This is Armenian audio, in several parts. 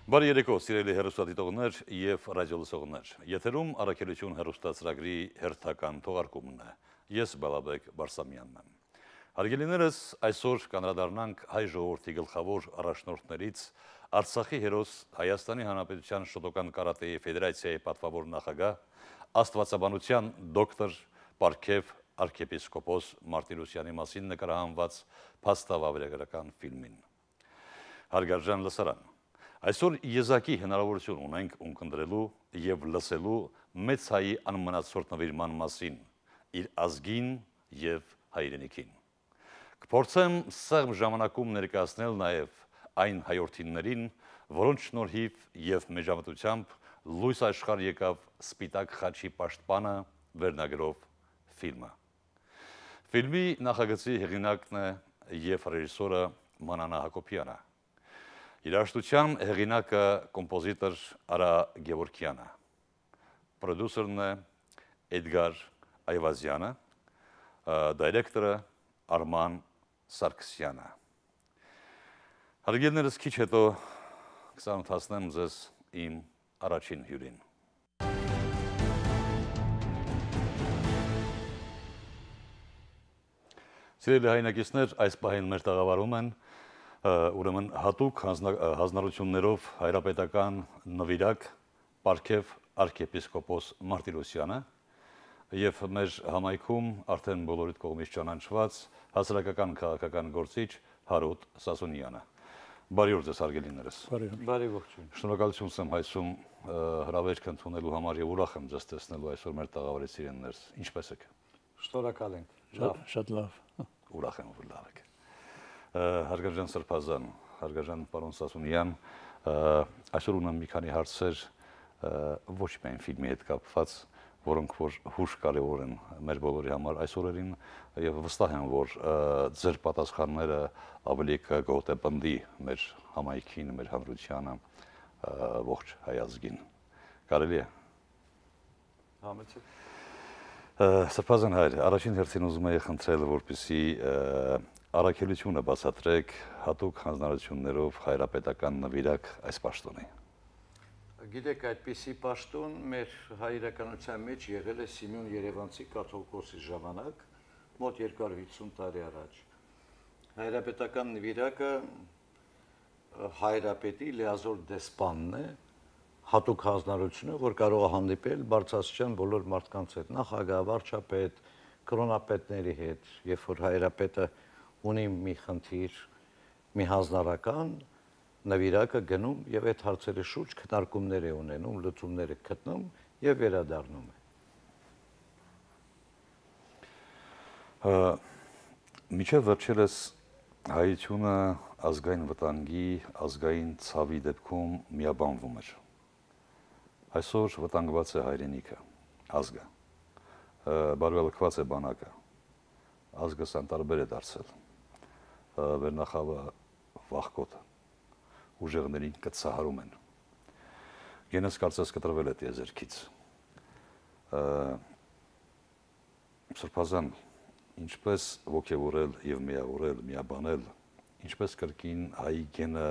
Բարի երեկո, սիրելի հեռուստադիտողներ և ռադիոլսողներ։ Եթերում առաքելություն հեռուստացրագրի հերթական թողարկումն է։ Ես Բալաբեկ Բարսամյանն եմ։ Հարգելիներս, այսօր կանդրադառնանք հայ ժողովրդի գլխավոր առաջնորդներից Արցախի հերոս Հայաստանի Հանրապետության Շոտոկան կարատեի ֆեդերացիայի պատվավոր նախագահ, աստվածաբանության դոկտոր Պարքև արքեպիսկոպոս Մարտիրոսյանի մասին նկարահանված փաստավավերագրական ֆիլմին։ Հարգարժան լսարան, այսօր եզակի հնարավորություն ունենք ունկնդրելու և լսելու մեծ հայի անմնացորդ նվիրման մասին, իր ազգին և հայրենիքին։ Կփորձեմ սեղմ ժամանակում ներկայացնել նաև այն հայորդիներին, որոնց շնորհիվ և մեջամտությամբ լույս աշխարհ եկավ «Սպիտակ խաչի պաշտպանը» վերնագրով ֆիլմը։ Ֆիլմի նախագծի հեղինակն է և ռեժիսորը Մանանա Հակոբյանը։ Երաժշտության հեղինակը կոմպոզիտոր Արա Գևորգյանը, պրոդյուսերն է Էդգար Այվազյանը, դայրեկտորը Արման Սարգսյանը։ Հարգելիներս, քիչ հետո կծանոթացնեմ ձեզ իմ առաջին հյուրին։ Սիրելի հայրենակիցներ, այս պահին մեր տաղավարում են ուրեմն հատուկ հանձնարարություններով հայրապետական նվիրակ Պարքև արքեպիսկոպոս Մարտիրոսյանը և մեր համայնքում արդեն բոլորիդ կողմից ճանաչված հասարակական քաղաքական գործիչ Հարութ Սասունյանը։ Բարի օր ձեզ, հարգելիներս։ Բարի ողջույն։ Շնորհակալություն եմ հայցում հրավերք ընդունելու համար և ուրախ եմ ձեզ տեսնելու այսօր մեր տաղավարի սիրելիներս։ Ինչպե՞ս եք։ Շնորհակալ ենք։ Շատ լավ։ Ուրախ եմ, որ լավ եք։ Հարգարժան Սրբազան, հարգարժան պարոն Սասունյան, այսօր ունեմ մի քանի հարցեր ոչ միայն ֆիլմի հետ կապված, որոնք որ հուշ կարևոր են մեր բոլորի համար այս օրերին եւ վստահ եմ, որ ձեր պատասխանները ավելի կգոտեպնդի մեր համայնքին, մեր հանրությանը, ողջ հայ ազգին։ Կարելի է։ Համեցեք։ Սրբազան հայր, առաջին հերթին ուզում եի խնդրել, որպեսզի առաքելությունը բացատրեք հատուկ հանձնարարություններով հայրապետական նվիրակ այս պաշտոնի։ Գիտեք, այդպիսի պաշտոն մեր հայրականության մեջ եղել է Սիմեոն Երևանցի կաթողիկոսի ժամանակ, մոտ 250 տարի առաջ։ Հայրապետական նվիրակը հայրապետի լիազոր դեսպանն է, հատուկ հանձնարարություն է, որ կարող է հանդիպել բարձրաստիճան բոլոր մարդկանց հետ, նախագահ, վարչապետ, կրոնապետների հետ, երբ որ հայրապետը ունի մի խնդիր, մի հանձնարարական, նվիրակը գնում եւ այդ հարցերի շուրջ քննարկումներ է ունենում, լուծումներ է գտնում եւ վերադառնում է։ Միջև վերջերս հայությունը ազգային վտանգի, ազգային ցավի դեպքում միաբանվում էր։ Այսօր վտանգված է հայրենիքը, ազգը, բարվելքված է բանակը, ազգը անտարբեր է դարձել, վերնախավը վախկոտը, ուժեղներին կծահարում են, գենես կարծես կտրվել է տիեզերքից։ Սրբազան, ինչպես ոգևորել և միավորել, միաբանել, ինչպես կրկին հայի գենը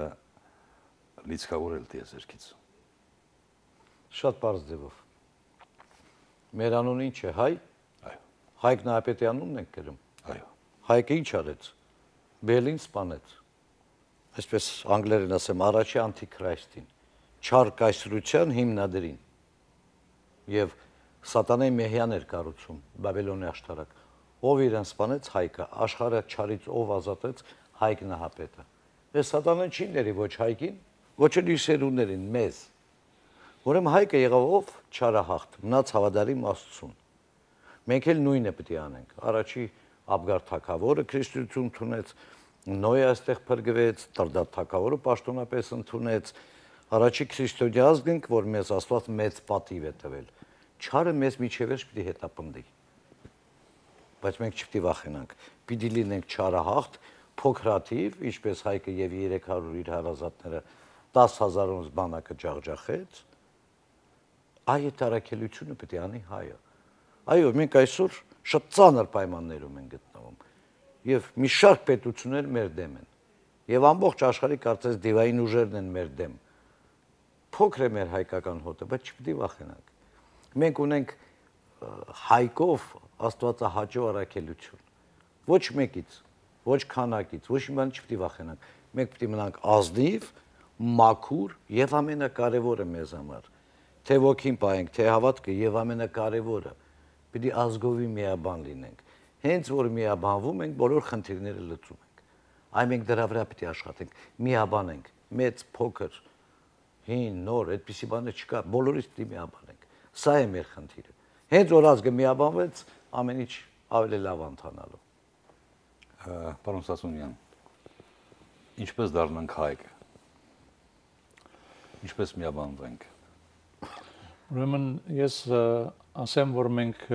լիցքավորել տիեզերքից։ Շատ պարզ ձևով։ Մեր անունը ինչ է, հայ։ Այո։ Հայկ Նահապետի անունն ենք կրում։ Այո։ Հայկը ինչ արեց։ Բելին սպանեց։ Այսպես անգլերեն ասեմ, առաջի անտիքրայստին, չար կայսրության հիմնադրին։ Եվ սատանայի մեհյան էր կառուցում Բաբելոնի աշտարակ։ Ով իրեն սպանեց, Հայկը, աշխարհը չարից ով ազատեց, Հայկ Նահապետը։ Այս սատանան չի ների ոչ Հայկին, ոչ էլ իր սերունդներին, մեզ։ Ուրեմն Հայկը եղավ ով չարահաղթ, մնաց հավատարիմ Աստծուն։ Մենք էլ նույնը պետք է անենք։ Առաջի Աբգար թագավորը քրիստոսություն ընդունեց, Նոյը այստեղ փրկվեց, Տրդատ թագավորը պաշտոնապես ընդունեց, առաջի քրիստոնյա ազգ ենք, որ մեզ Աստված մեծ պատիվ է տվել։ Չարը մեզ միջև պետք է հետապնդի։ Բայց մենք չպետք է վախենանք։ Պիտի լինենք չարահաղթ, փոքրաթիվ, ինչպես Հայկը եւ 300 իր հարազատները 10,000-ից բանակը ջախջախեց, այդ առաքելությունը պետք է անի հայը։ Այո, մենք այսօր շատ ծանր պայմաններում ենք գտնվում եւ մի շարք պետություններ մեր դեմ են։ Եվ ամբողջ աշխարհի կարծես դիվային ուժերն են մեր դեմ։ փոքր է մեր հայկական հոտը, բայց չպետք է վախենանք։ Մենք ունենք հայկով աստվածահաճո առաքելություն։ Ոչ մեկից, ոչ քանակից, ոչ մի բան չպետք է վախենանք։ Մենք պետք է մնանք ազնիվ, մաքուր եւ ամենակարևորը մեզ համար, թե ոգին պահենք, թե հավատքը եւ ամենակարևորը, պետք է ազգովի միաբան լինենք։ Հենց որ միաբանվում ենք, բոլոր խնդիրները լուծում ենք։ Այ մենք դրա վրա պետք է աշխատենք, միաբանենք, մեծ, փոքր, հին, նոր, այդպիսի բաներ չկա, բոլորից պետք է միաբանենք։ Սա է մեր խնդիրը։ Հենց որ ազգը միաբանվեց, ամեն ինչ ավելի լավ ընթանալու։ Պարոն Սասունյան, ինչպես դառնանք հայք։ Ինչպես միաբանվենք։ Ուրեմն ես ասեմ, որ մենք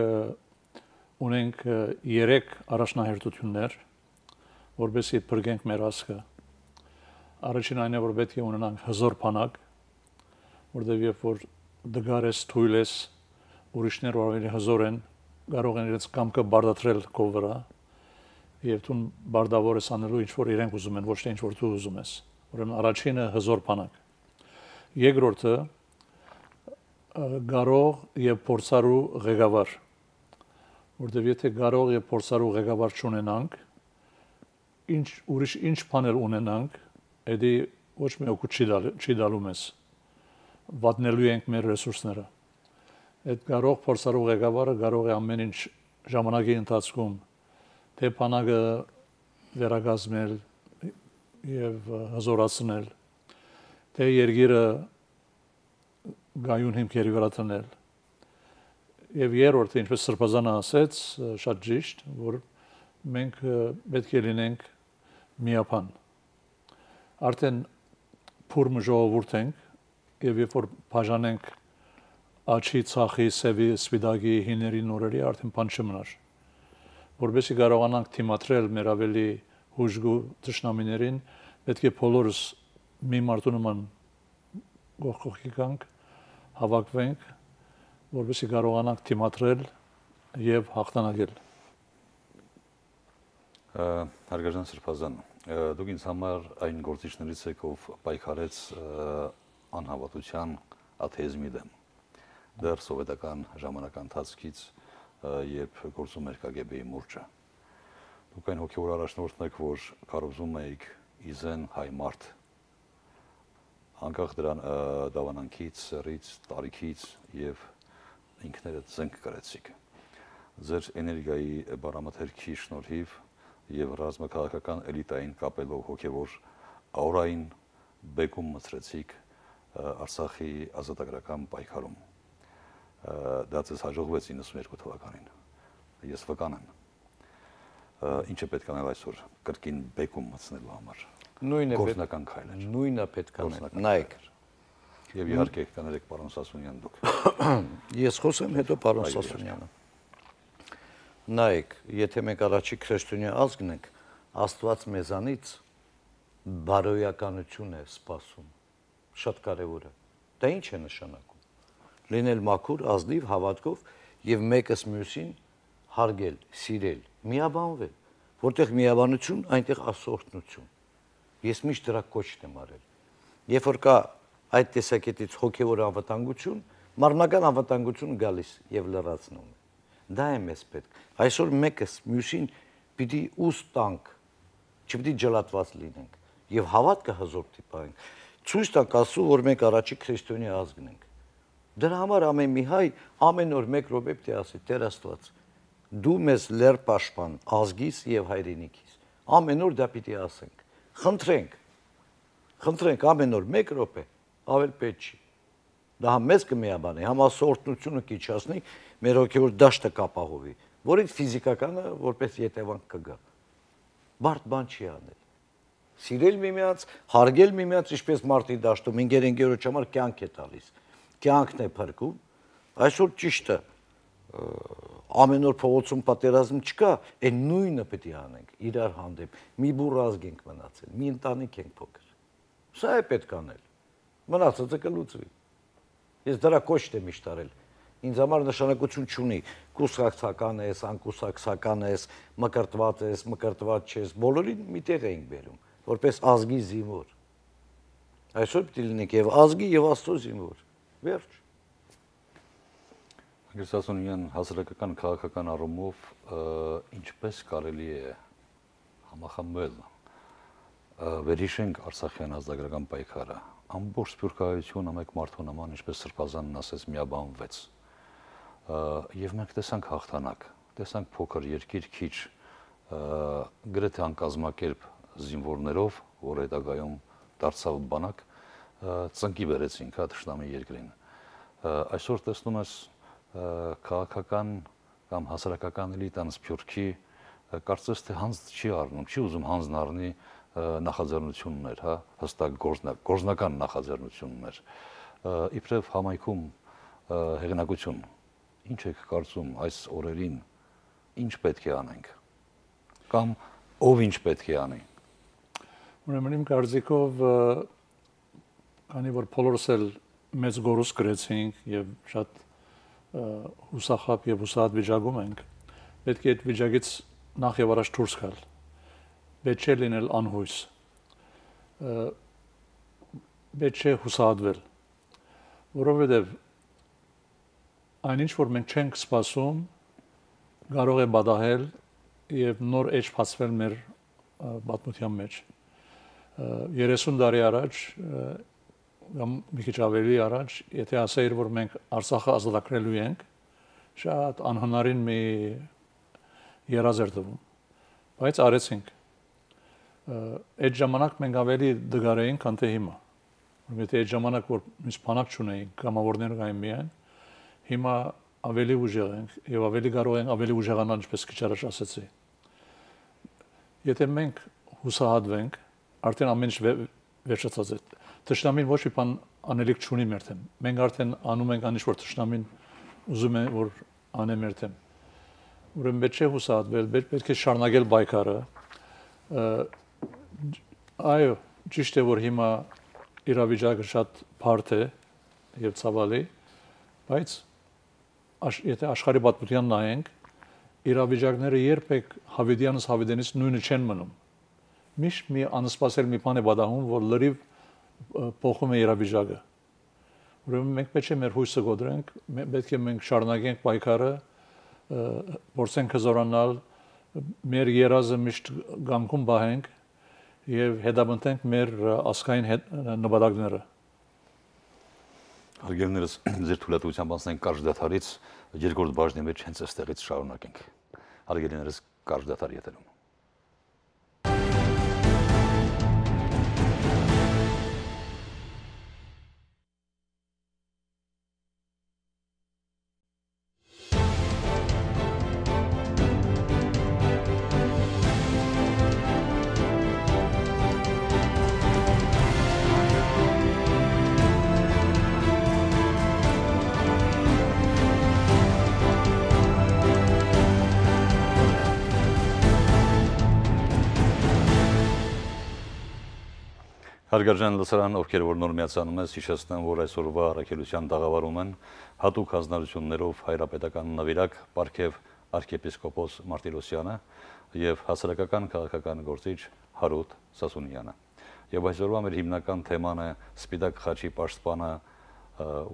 ունենք 3 առաջնահերթություններ, որովհետեւ փրկենք մեր ազգը։ Առաջին այն է, որ պետք է ունենանք հզոր բանակ, որտեղ երբ որ դգարես, թույլ ես, ուրիշներ որ ավելի հզոր են, կարող են իրենց կամքը բարդացրել քո վրա, եւ դու բարդավոր ես անելու ինչ որ իրենք ուզում են, ոչ թե ինչ որ դու ուզում ես։ Ուրեմն առաջինը հզոր բանակ։ Երկրորդը կարող եւ փորձառու ղեկավար, որտեղ եթե կարող եւ փորձառու ղեկավար չունենանք, ուրիշ ինչ բաներ ունենանք, դա ոչ մի օգուտ չի դալու մեզ։ Վատնելու ենք մեր ռեսուրսները։ Այդ կարող փորձառու ղեկավարը կարող է ամեն ինչ ժամանակի ընթացքում թե բանակը վերակազմել եւ հզորացնել, թե երկիրը գայուն հիմքերի վրա դնել։ Եվ երրորդը, ինչպես Սրբազանը ասեց, շատ ճիշտ, որ մենք պետք է լինենք միապան։ Արդեն փուրմը ժողովուրդ ենք, եւ երբ որ բաժանենք աչի, ցախի, սևի, սպիտակի, հիների նորերի, արդեն բան չմնար։ Որովհետեւ կարողանանք թիմատրել մեր ավելի հուժգու ճշնամիներին, պետք է բոլորս մի մարդու նման գողքի կանք հավաքվենք, որովհետեւ կարողանանք թիմատրել եւ հաղթանակել։ Հարգարժան Սրբազան, դուք ինձ համար այն գործիչներից եք, ով պայքարեց անհավատության աթեիզմի դեմ։ Դեռ սովետական ժամանակի ընթացքից երբ գործում էր KGB-ի մուրճը։ Դուք այն հոգևոր առաջնորդն եք, որ կարողում եք իզեն հայ մարդ, անկախ դրան դավանանքից, սեռից, տարիքից եւ ինքներդ զենք կրեցիք։ Ձեր էներգիայի բարամթերքի շնորհիվ եւ ռազմաքաղաքական էլիտային կապելով հոգևոր աուրային բեկում մցրեցիք Արցախի ազատագրական պայքարում։ Դա ցես հաջողվեց 92 թվականին։ Ես վկան եմ։ Ինչ է պետք անել այսօր կրկին բեկում մտցնելու համար։ Գործնական քայլ էր։ Նույնը պետք է անել։ Նայեք։ Եվ իհարկե կներեք պարոն Սասունյան դուք։ Ես խոսեմ, հետո պարոն Սասունյանը։ Նայեք, եթե մենք առաջի քրիստոնյա ազգն ենք, Աստված մեզանից բարոյականություն է սպասում։ Շատ կարևոր է։ Դա ինչ է նշանակում։ Լինել մաքուր, ազնիվ, հավատքով եւ մեկս մյուսին հարգել, սիրել, միաբանվել, որտեղ միաբանություն, այնտեղ ասորտնություն։ Ես միշտ դրա կոչն եմ արել։ Երբ որ կա այդ տեսակետից հոգեվոր անվտանգություն, մարմնական անվտանգություն գալիս եւ լրացնում է։ Դա է մեզ պետք։ Այսօր մեկս մյուսին պիտի ուս տանք, չպիտի ջլատված լինենք եւ հավատքը հզոր տիպանք։ Ցույց տանք ասու, որ մենք առաջի քրիստոնյա ազգն ենք։ Դրա համար ամեն մի հայ ամեն օր 1 րոպե պետք է ասի Տեր Աստված, դու մեզ լեր պաշտպան ազգիս եւ հայրենիքիս։ Ամեն օր դա պիտի ասենք։ Խնդրենք ամեն օր 1 րոպե, ավել պետք չի։ Դա համ մեզ կմիաբանի, համ ասորտնությունը կիչացնի, մեր հոգեոր դաշտը կապահովի, որից ֆիզիկականը որպես յետևանք կգա։ Բարդ բան չի անել։ Սիրել միմյանց, հարգել միմյանց, ինչպես մարտի դաշտում ինգերենգերոջ համար կյանք է տալիս։ Կյանքն է փրկում։ Այսօր ճիշտ է, ամեն օր փողոցում պատերազմ չկա, այն նույնը պետք է անենք իրար հանդեպ։ Մի բուռ ազգ ենք մնացել, մի ընտանիք ենք փոքր։ Սա է պետք անել։ Մնացածը կլուծվի։ Ես դրա կոչն եմ միշտ արել։ Ինձ համար նշանակություն չունի կուսակցական ես, անկուսակցական ես, մկրտված ես, մկրտված չես, բոլորին միտեղ էինք բերում, որպես ազգի զինվոր։ Այսօր պիտի լինենք եւ ազգի եւ Աստծո զինվոր։ Վերջ։ Անգլիսացիան հասարակական քաղաքական առումով ինչպես կարելի է համախմբել վերհիշենք Արցախյան ազգագրական պայքարը ամբողջ սփյուռքահայությունը մեկ մարդու նման ինչպես Սրբազանն ասեց միաբանվեց եւ մենք տեսանք հաղթանակ տեսանք փոքր երկիր քիչ գրեթե անկազմակերպ զինվորներով որ հետագայում դարձավ բանակ ծնկի բերեցինք հա թշնամի երկրին այսօր տեսնում ես քաղաքական կամ հասարակական էլիտան սփյուռքի կարծես թե հանձ չի առնում չի ուզում հանձն առնի նախաձեռնություններ հա հստակ գործնական նախաձեռնություններ իբրև համայնքում հեղինակություն ինչ եք կարծում այս օրերին ինչ պետք է անենք կամ ով ինչ պետք է անի Ուրեմն իմ կարծիքով քանի որ բոլորս էլ մեծ գորուս գրեցինք եւ շատ հուսախապ եւ հուսահատ վիճակում ենք պետք է այդ վիճակից նախ եւ առաջ դուրս գալ պետք է լինել անհույս պետք է հուսահատվել որովհետեւ այնինչ որ մենք չենք սպասում կարող է բադահել եւ նոր էջ բացվել մեր պատմության մեջ 30 տարի առաջ կամ մի քիչ ավելի առաջ եթե ասեիր որ մենք Արցախը ազատագրելու ենք շատ անհնարին մի երազ էր տվում բայց արեցինք այդ ժամանակ մենք ավելի դգար էինք քան թե հիմա որովհետեւ այդ ժամանակ որ մենք բանակ չունեինք կամավորներ կային միայն հիմա ավելի ուժեղ ենք եւ ավելի կարող ենք ավելի ուժեղանալ ինչպես քիչ առաջ ասացի եթե մենք հուսահատվենք արդեն ամեն ինչ վերջացած է Տշնամին ոչ մի բան անելիք չունի մեր թեմ մենք արդեն անում ենք անիշ որ տշնամին ուզում է որ անե մեր թեմ ուրեմն պետք է հուսահատվել պետք է շարունակել պայքարը այո ճիշտ է որ հիմա իրավիճակը շատ բարդ է եւ ցավալի բայց եթե աշխարհի պատմության նայենք իրավիճակները երբեք Հավիդյանից նույնը չեն մնում միշտ մի անսպասել մի բան է պատահում որ լրիվ փոխում է իրավիճակը ուրեմն մենք պետք է մեր հույսը գոդրենք պետք է մենք շարունակենք պայքարը փորձենք հզորանալ մեր երազը միշտ գանքում բահենք եւ հետապնդենք մեր ասկային նպատակները Հարգելիներս ձեր թույլատվությամբ անցնենք կարճ դադարից երկրորդ բաժնի մեջ հենց այստեղից շարունակենք Հարգելիներս կարճ դադար ետերում Հարգարժան լսարան, ովքեր որ նոր միացանում ես, հիշեցնեմ, որ այսօրվա առաքելության տաղավարում են հատուկ հանձնարարություններով հայրապետական նվիրակ Պարքև arczepiskopos Martirosyan-ը եւ հասարակական քաղաքական գործիչ Հարութ Սասունյանը։ Եվ այսօրվա մեր հիմնական թեման է Սպիտակ խաչի պաշտպանը,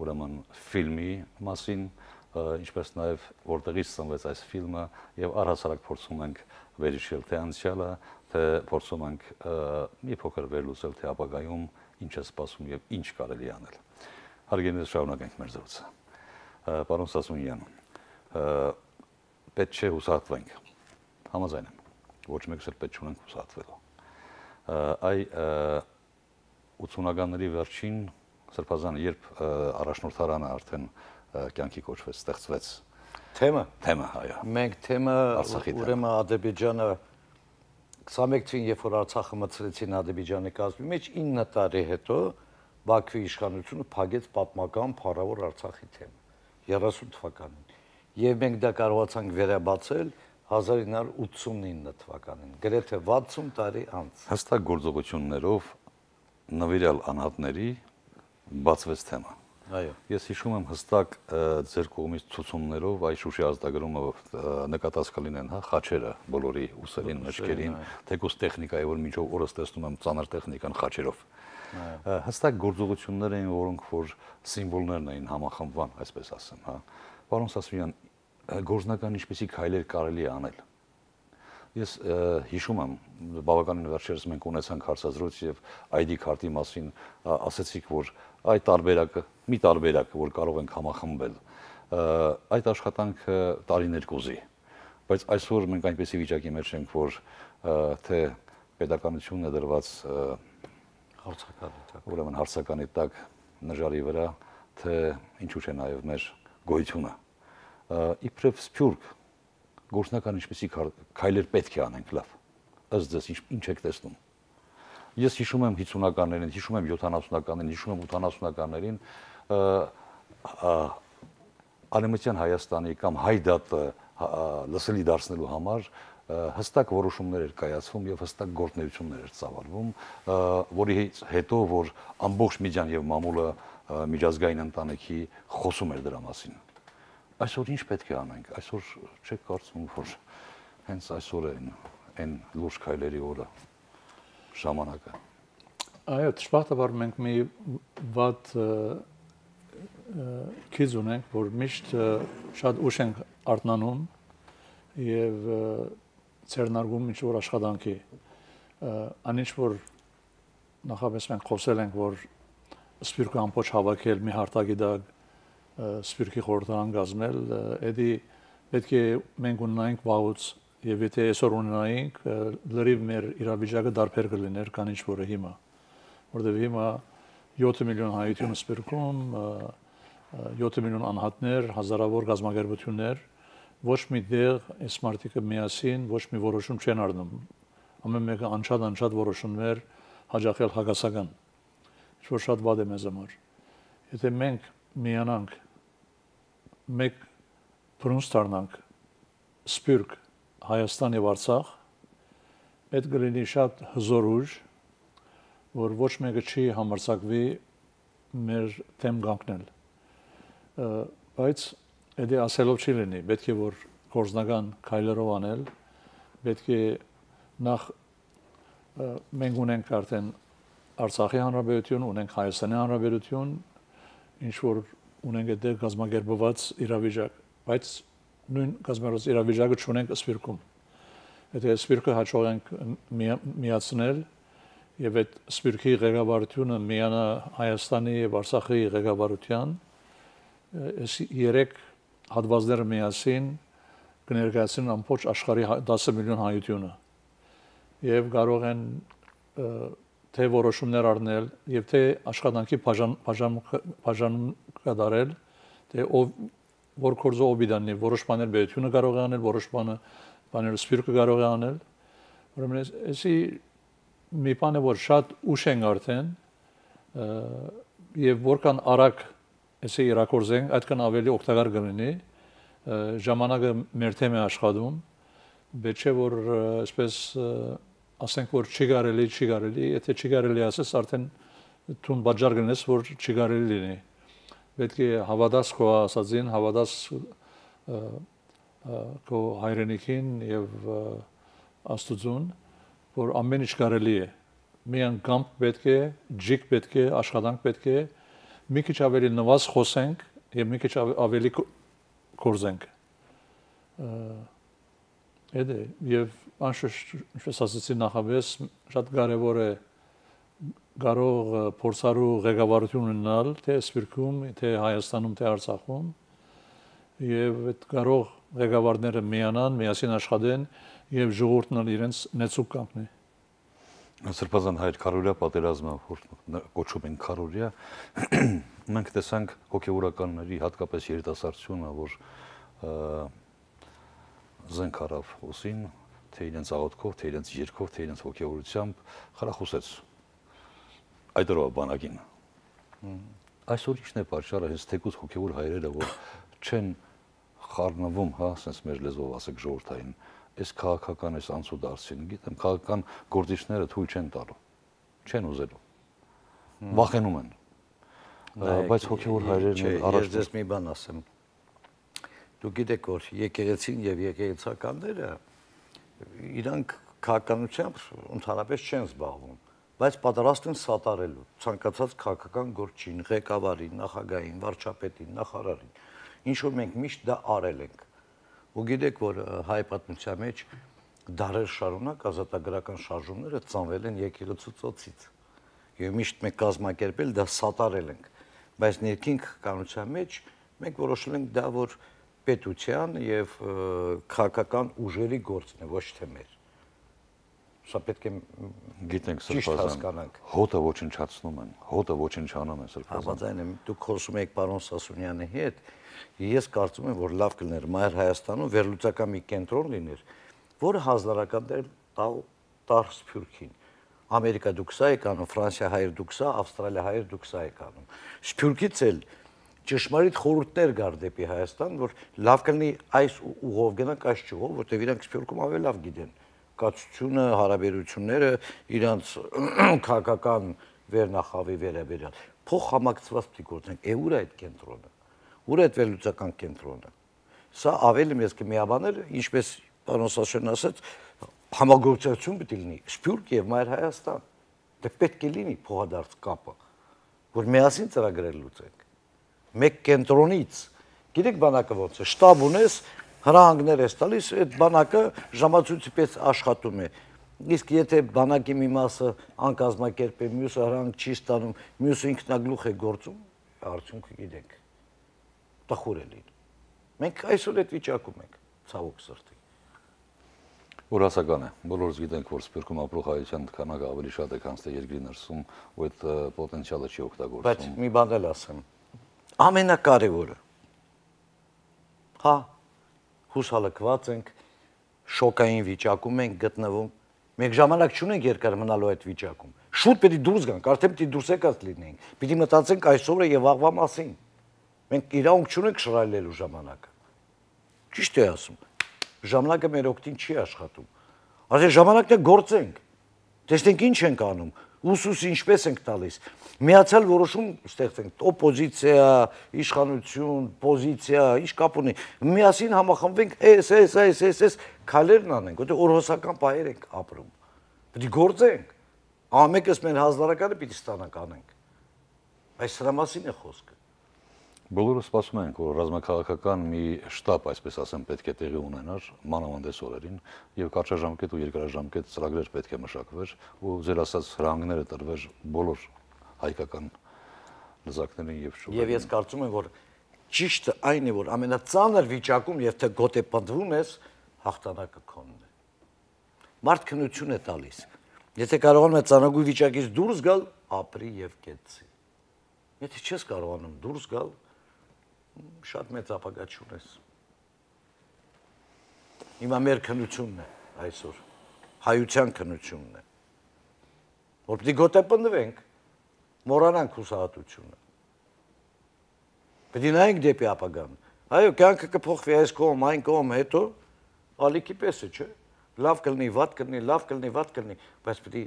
ուրեմն ֆիլմի մասին, ինչպես նաեւ որտեղից ծնվեց այս ֆիլմը եւ առհասարակ փորձում ենք վերհիշել թե անցյալը, թե փորձում ենք մի փոքր վերլուծել թե ապագայում ինչ է սպասում եւ ինչ կարելի անել։ Հարգելի շարունակենք մեր զրույցը։ Պարոն Սասունյան, պետք է հուսահատվենք։ Համաձայն եմ։ Ոչ մեկս էլ պետք չունենք հուսահատվելու։ Այ 80-ականների վերջին Սրբազան երբ առաջնորդարանը արդեն կյանքի կոչվեց, ստեղծվեց։ Թեմը, այո։ Մենք թեմը ուրեմն Ադրբեջանը 21-ին երբ որ Արցախը մտցրեցին Ադրբեջանի կազմի մեջ 9 տարի հետո Բաքվի իշխանությունը փակեց պատմական փառավոր Արցախի թեմը 30 թվականին։ Եվ մենք դա կարողացանք վերաբացել 1989 թվականին, գրեթե 60 տարի անց։ Հստակ գործողություններով նվիրյալ անհատների բացվեց թեմը։ Այո։ Ես հիշում եմ հստակ ձեր կողմից ցուցումներով այ Շուշի ազգագրումը նկատած կլինեն, հա, խաչերը բոլորի ուսերին, մեջքերին, թեկուզ տեխնիկայի, որ մինչև օրս տեսնում եմ ծանր տեխնիկան խաչերով։ Հստակ գործողություններ էին, որոնք որ սիմվոլներն էին համախմբման, այսպես ասեմ, հա։ Պարոն Սասունյան, գործնական ինչպեսի քայլեր կարելի է անել։ Ես հիշում եմ, բավականին վերջերս մենք ունեցանք հարցազրույց եւ ID քարտի մասին ասացիք, որ այդ տարբերակը, մի տարբերակը, որ կարող ենք համախմբել, այդ աշխատանքը տարիներ կուզի, բայց այսօր մենք այնպեսի վիճակի մեջ ենք, որ թե պետականությունն է դրված ուրեմն հարցականի տակ նժարի վրա, թե ինչու՞ չէ նաեւ մեր գոյությունը, իբրև սփյուռք գործնական ինչպեսի քայլեր պետք է անենք լավ, ըստ ձեզ ինչ եք տեսնում։ Ես հիշում եմ 50-ականներին, հիշում եմ 70-ականներին, հիշում եմ 80-ականներին Արևմտյան Հայաստանի կամ հայ դատը լսելի դարձնելու համար հստակ որոշումներ էր կայացվում եւ հստակ գործունեություններ էր ծավալվում, որի հետո որ ամբողջ միջան եւ մամուլը միջազգային ընտանիքի խոսում էր դրա մասին։ Այսօր ինչ պետք է անենք, այսօր չեք կարծում, որ հենց այսօր է այն լուրջ քայլերի օրը, ժամանակը։ Այո, ճշմարտաբար մենք մի վատ քիզ ունենք, որ միշտ շատ ուշ ենք արթնանում եւ ցերնարգում ինչ-որ աշխատանքի։ Անինչ որ նախապես մենք խոսել ենք, որ սպիրկը ամբողջ հավաքել մի հարտակի դակ սպիրկի խորհրդարան կազմել, էդի պետք է մենք ունենայինք վաղուց եւ եթե այսօր ունենայինք, լրիվ մեր իրավիճակը դարբեր կլիներ, քան ինչ որը հիմա, որտեղ հիմա 7 միլիոն հայություն սպիրկում, 7 միլիոն անհատներ, հազարավոր գազագերբություններ, ոչ մի դեղ այս մարդիկը միասին ոչ մի որոշում չեն առնում։ Ամեն մեկը անչափ որոշումներ հաջողել հագասական, ինչ որ շատ վատ է մեզ համար։ Եթե մենք միանանք մեկ բրոնզ դառնանք սպիրկ Հայաստան եւ Արցախ, պետք է լինի շատ հզոր ուժ, որ ոչ մեկը չի համարձակվի մեր թեմ կանգնել։ Բայց դա ասելով չի լինի, պետք է որ գործնական քայլերով անել, պետք է նախ մենք ունենք արդեն Արցախի հանրապետություն, ունենք Հայաստանի հանրապետություն, ինչ որ ունենք այդ գազագերբված իրավիճակ, բայց նույն գազագերբված իրավիճակը չունենք սպիրկում։ Եթե սպիրկը հաջող ենք միացնել եւ այդ սպիրկի ղեկավարությունը միանա Հայաստանի եւ Արցախի ղեկավարության, այս երեք հատվածները միասին կներկայացնեն ամբողջ աշխարհի 10 միլիոն հայությունը եւ կարող են թե որոշումներ առնել եւ թե աշխատանքի բաժանում կատարել, թե որ կորզո օբիդանի որոշ բաներ բերությունը կարող է անել, որոշ բաները սպիրկը կարող է անել։ Ուրեմն էսի մի բան է որ շատ ուշ են արդեն եւ որքան արագ էսի իրակորձենք, այդքան ավելի օգտակար կլինի, ժամանակը մեր թեմ է աշխատում, պետք է որ այսպես ասենք որ չի կարելի, եթե չի կարելի ասես արդեն տուն բաժար գնես որ չի կարելի լինի։ Պետք է հավատաս քո ասածին, հավատաս քո հայրենիքին եւ Աստծուն, որ ամեն ինչ կարելի է։ Միան կամք պետք է, ջիկ պետք է, աշխատանք պետք է, մի քիչ ավելի նվազ խոսենք եւ մի քիչ ավելի կորզենք։ Էդե եւ անշուշտ ինչպես ասացի նախապես շատ կարեւոր է կարող փորձարու ղեկավարություն ունենալ թե սպիրկում, թե Հայաստանում, թե Արցախում եւ այդ կարող ղեկավարները միանան, միասին աշխատեն եւ ժողովուրդն իրենց նեցուկ կանգնի։ Սրբազան հայր քարորիա պատերազմը, որ կոչում են քարորիա, մենք տեսանք հոգեվորականների, հատկապես երիտասարդությունը, որ զենք արավ ուսին, թե իրենց աղոթքով, թե իրենց երգով, թե իրենց հոգեվորությամբ խրախուսեց այդ օրվա բանակին։ Այսօր ինչն է պատճառը, հենց թեկուզ հոգեվոր հայրերը, որ չեն խառնվում, հա, ասես մեր լեզվով ասեք ժողովրդային, այս քաղաքական այս անցուդարձին, գիտեմ, քաղաքական գործիչները թույլ չեն տալու, չեն ուզելու, վախենում են, բայց հոգեվոր հայրերն առաջ։ Ես մի բան ասեմ, դուք գիտեք, որ եկեղեցին եւ եկեղեցականները իրանք քաղաքականությամբ ընդհանրապես չեն զբաղվում, բայց պատրաստ են սատարելու ցանկացած քաղաքական գործին, ղեկավարին, նախագահին, վարչապետին, նախարարին։ Ինչ որ մենք միշտ դա արել ենք։ Ու գիտեք, որ հայ պատմության մեջ դարեր շարունակ ազատագրական շարժումները ծանվել են եկեղեցու ծոցից։ Եվ միշտ մենք կազմակերպել դա սատարել ենք։ Բայց ներքին քաղաքականության մեջ մենք որոշել ենք դա որ պետության եւ քաղաքական ուժերի գործն է, ոչ թե մեր։ Սա պետք է գիտենք ճիշտ հասկանանք։ Հոտը ոչնչացնում են, հոտը ոչնչանում են Սրբազան։ Համաձայն եմ, դուք խոսում եք պարոն Սասունյանի հետ, ես կարծում եմ, որ լավ կլիներ Մայր Հայաստանում վերլուծական մի կենտրոն լիներ, որը հանձնարարական տար Սփյուռքին։ Ամերիկա դուք սա եք անում, Ֆրանսիա հայեր դուք սա, Ավստրալիա հայեր դուք սա եք անում։ Սփյուռքից էլ ճշմարիտ խորհուրդներ գար դեպի Հայաստան, որ լավ կլինի այս ուղով գնանք այս ճյուղով, որտեղ իրանք Սփյուռքում ավելի լավ գիտեն կացությունը, հարաբերությունները, իրանց քաղաքական վերնախավի վերաբերյալ։ Փոխ համակցված պիտի գործենք։ Ուր է այդ կենտրոնը։ Ուր է այդ վերլուծական կենտրոնը։ Սա ավելի մեծ կմիաբաներ, ինչպես պարոն Սասունյանն ասաց, համագործակցություն պիտի լինի Սփյուռք եւ Մայր Հայաստան։ Դե պետք է լինի փոխադարձ կապը, որ միասին ծրագրեր լուծենք։ Մեկ կենտրոնից, գիտեք բանակը ոնց է, շտաբ ունես, հրահանգներ ես տալիս, այդ բանակը ժամացույցի պես աշխատում է։ Իսկ եթե բանակի մի մասը անկազմակերպ է, մյուսը հրահանգ չի ստանում, մյուսը ինքնագլուխ է գործում, արդյունքը գիտենք։ Տխուր է լինում։ Մենք այսօր այդ վիճակում ենք, ցավոք սրտի։ Ուրասական է։ Բոլորս գիտենք, որ Սփյուռքում ապրող հայության քանակը ավելի շատ է, քան թե երկրի ներսում, ու այդ պոտենցիալը չի օգտագործվում։ Բայց մի բան էլ ասեմ։ Ամենակարևորը։ Հա, հուսալքված ենք, շոկային վիճակում ենք գտնվում։ Մենք ժամանակ չունենք երկար մնալու այդ վիճակում։ Շուտ պետք է դուրս գանք, արդեն պետք է դուրս եկած լինենք։ Պիտի մտածենք այսօրը եւ վաղվա մասին։ Մենք իրավունք չունենք շռայլելու ժամանակը։ Ճիշտ է ասում։ Ժամանակը մեր օգտին չի աշխատում։ Այսինքն ժամանակն է գործենք։ Տեսնենք ինչ ենք անում, ուսուս ինչպես ենք տալիս։ Միացյալ որոշում ստեղծենք, օպոզիցիա, իշխանություն, պոզիցիա, ինչ կապ ունի։ Միասին համախմբվենք, այս քայլերն անենք, որտեղ օրհոսական պահեր ենք ապրում։ Պետք է գործենք։ Ամենքս մեր հանձնարարականը պիտի ստանանք անենք։ Այս սրա մասին է խոսքը։ Բոլորը սպասում են, որ ռազմաքաղաքական մի շտաբ, այսպես ասեմ, պետք է տեղի ունենար մանավանդ այս օրերին, եւ կարճաժամկետ ու երկարաժամկետ ծրագրեր պետք է մշակվեր ու ձեր ասած հրահանգները տրվեր բոլոր հայկական լեզակներին եւ շուկային։ Եվ ես կարծում եմ, որ ճիշտը այն է, որ ամենածանր վիճակում եւ թե գոտե պնդվում ես, հաղթանակը քոնն է։ Մարդ քնություն է տալիս։ Եթե կարողանում է ծանրագույն վիճակից դուրս գալ, ապրի եւ կեցի։ Եթե չես կարողանում դուրս գալ, շատ մեծ ապագա չունես։ Հիմա մեր քնությունն է այսօր, հայության քնությունն է, որ պիտի գոտեպնդվենք, մոռանանք հուսահատությունը։ Պետք է նայենք դեպի ապագան։ Այո, կյանքը կփոխվի այս կողմ, այն կողմ, հետո ալիքի պես է, չէ՞։ Լավ կլինի, վատ կլինի, լավ կլինի, վատ կլինի, բայց պետք է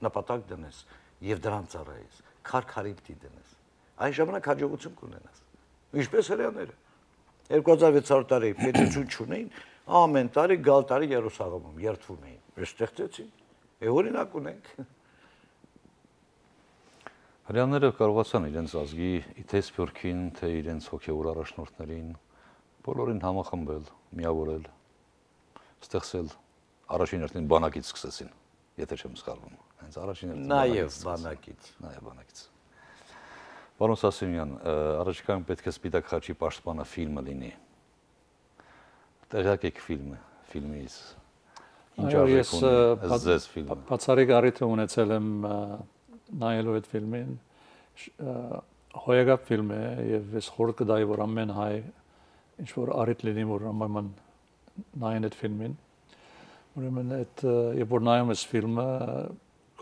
նպատակ դնես եւ դրան ծառայես, քարքարին պիտի դնես։ Այն ժամանակ հաջողություն կունենաս։ Ինչպես հрьяաները 2600 տարի պետություն չունեին, ամեն տարի գալ տարի Երուսաղեմում երթվում էին։ Ես ստեղծեցին։ Օրինակ ունենք։ Հрьяաները կարողացան իրենց ազգի թե Սփյուռքին, թե իրենց հոգևոր առաջնորդներին բոլորին համախմբել, միավորել, ստեղծել, առաջին հերթին բանակից սկսեցին, եթե չեմ սխալվում։ Հենց առաջին հերթին Նաև բանակից։ Նաև բանակից։ Պարոն Սասունյան, առաջիկայում պետք է Սպիտակ խաչի պաշտպանը ֆիլմը լինի։ Տեղյակ եք ֆիլմից։ Ինչ արժեք ունի ձեզ ֆիլմը։ Բացառիկ առիթ ունեցել եմ նայելու այդ ֆիլմին, հոյակապ ֆիլմ է եւ ես խորհուրդ կտայի, որ ամեն հայ ինչ որ առիթ լինի, որ ամեն նայեն այդ ֆիլմին։ Ուրեմն այդ երբ որ նայում ես ֆիլմը,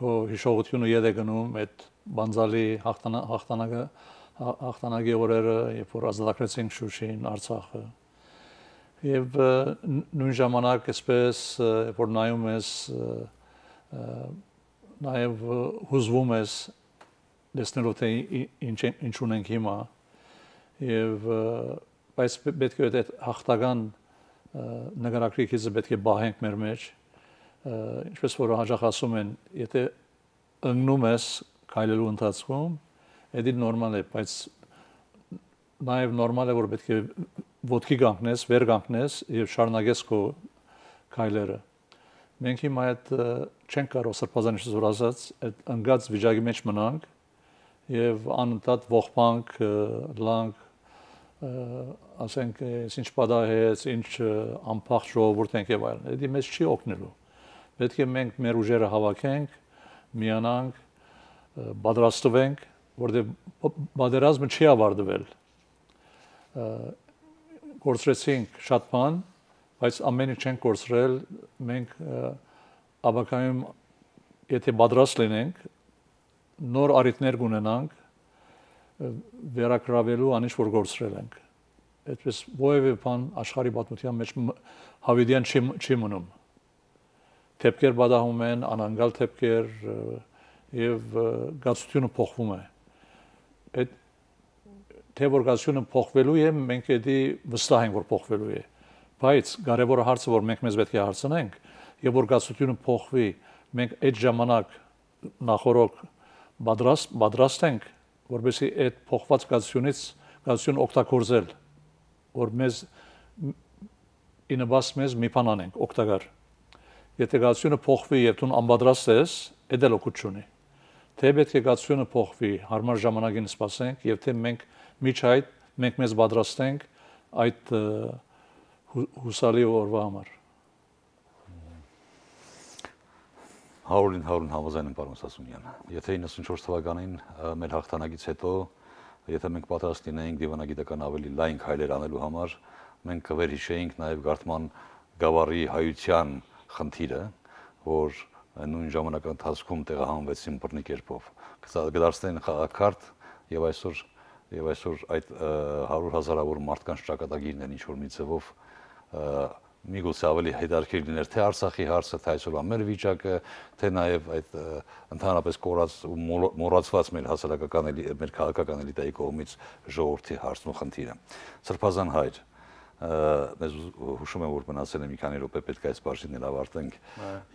քո հիշողությունը ետ է գնում այդ բանձալի հաղթանակի օրերը, երբ որ ազատագրեցինք Շուշին, Արցախը։ Եվ նույն ժամանակ այսպես, երբ որ նայում ես, նաև հուզվում ես տեսնելով թե ինչ ունենք հիմա, եւ բայց պետք է այդ հաղթական նկարագրիքիցը պետք է բահենք մեր մեջ, ինչպես որ հաջող ասում են, եթե ընկնում ես քայլելու ընթացքում, դա նորմալ է, բայց նաև նորմալ է, որ պետք է ոտքի կանգնես, վեր կանգնես եւ շարունակես քո քայլերը։ Մենք հիմա այդ չենք կարող սրբազան ինչպես որ ասած, այդ ընկած վիճակի մեջ մնանք եւ անընդհատ ողբանք, լանք, ասենք, ինչ պատահեց, ինչ անփախտ ժողովուրդ ենք եւ այլն։ Դա մեզ չի օգնելու։ Պետք է մենք մեր ուժերը հավաքենք, միանանք, պատրաստվենք, որտեղ պատերազմը չի ավարտվել։ Կորցրեցինք շատ բան, բայց ամեն ինչ չենք կորցրել, մենք ապակայում եթե պատրաստ լինենք, նոր առիթներ կունենանք վերակրավելու անիշ որ կորցրել ենք։ Այդպես որևէ բան աշխարհի պատմության մեջ հավիտյան չի մնում։ Թեփքեր պատահում են, անանգալ թեփքեր եւ գացությունը փոխվում է։ Այդ թե որ գացությունը փոխվելու է, մենք էդի վստահ ենք որ փոխվելու է։ Բայց կարևորը հարցը որ մենք մեզ պետք է հարցնենք, եւ որ գացությունը փոխվի, մենք այդ ժամանակ նախորոք պատրաստ ենք, որովհետեւ այդ փոխված գացություն օգտագործել, որ մեզ ինաբաս մեզ մի բան անենք, օգտակար։ Եթե գացությունը փոխվի եւ դու անպատրաստ ես, դա էլ օգուտ չունի։ Թե պետք է գացությունը փոխվի, հարմար ժամանակին սպասենք եւ թե մենք միջ այդ մենք մեզ պատրաստենք այդ հուսալի օրվա համար։ 100-ին համաձայն եմ պարոն Սասունյան։ Եթե 94 թվականին մեր հաղթանակից հետո, եթե մենք պատրաստ լինեինք դիվանագիտական ավելի լայն քայլեր անելու համար, մենք կվերհիշեինք նաև Գարթման գավառի հայության խնդիրը, որ նույն ժամանակահատվածում տեղահանվեցին բռնի կերպով։ Կդարձնեն խաղաքարտ եւ այսօր այդ 100,000-ավոր մարդկանց ճակատագիրն են ինչ որ մի ձևով միգուցե ավելի հետաքրքիր լիներ թե Արցախի հարցը, թե այսօրվա մեր վիճակը, թե նաև այդ ընդհանրապես կորած ու մոռացված մեր հասարակական մեր քաղաքական էլիտայի կողմից ժողովրդի հարցն ու խնդիրը։ Սրբազան հայր, մեզ հուշում եմ որ մնացել է մի քանի րոպե, պետք է այս բաժինն ավարտենք։